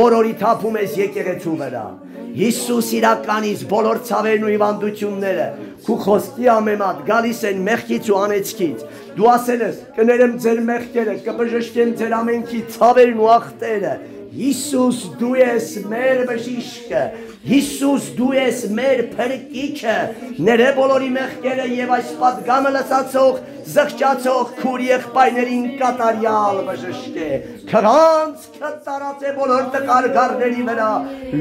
S1: օրորի թափում ես եկեղեցու վրա։ Հիսուս իրականից բոլոր ցավերն ու հիվանդությունները քու խոսքի ամեմատ գալիս են մեղքից ու անեծքից։ Դու ասել ես կներեմ ձեր մեղքերը, կբժշկեմ ձեր ամենքի ցավերն ու ախտերը։ Հիսուս դու ես մեր բժիշկը, Հիսուս դու ես մեր փրկիչը, ները բոլորի մեղքերը եւ այս պատգամը լսածող, զղջացող քուր եղբայրներին կատարյալ բժշկե։ Քրանց կտարած է բոլոր տկարգարների վրա,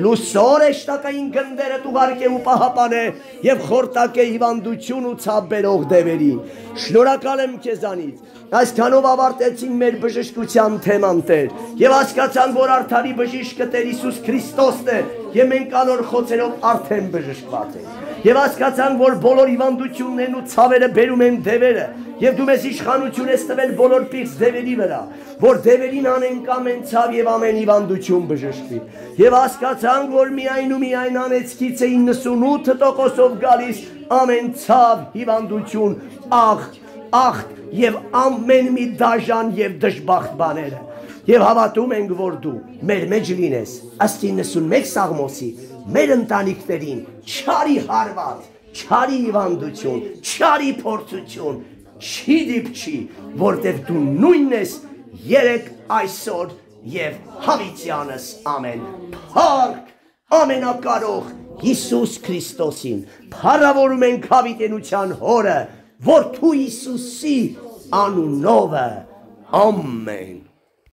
S1: լուսոր էշտակային գնդերը տուղարկե ու պահապանե եւ խորտակե հիվանդություն ու ցավ բերող դևերին։ Շնորհակալ եմ քեզանից։ Այսքանով ավարտեցին մեր բժշկության թեման Տեր եւ հասկացան, որ արդարի բժիշկը Տեր Հիսուս Քրիստոսն է եւ մենք անոր խոցերով արդեն բժշկված ենք եւ հասկացան, որ բոլոր հիվանդություններն ու ցավերը բերում են դևերը եւ դու մեզ իշխանություն ես տվել բոլոր պիղծ դևերի վրա, որ դևերին անենք ամեն ցավ եւ ամեն հիվանդություն բժշկվի եւ հասկացան, որ միայն ու միայն անեցքից է իննսունութ տոկոսով գալիս ամեն ցավ, հիվանդություն, աղ աղ եւ ամեն մի դաժան եւ դժբախտ բաները եւ հավատում ենք, որ դու մեր մեջ լինես ըստ իննսունմեկ Սաղմոսի մեր ընտանիքներին չարի հարված, չարի հիվանդություն, չարի փորձություն չի դիպչի, որտեղ դու նույնն ես երեք այսօր եւ հավիտյանս ամեն փառք ամենակարող Հիսուս Քրիստոսին փառավորում ենք հավիտենության հորը Որդու Հիսուսի անունով ամեն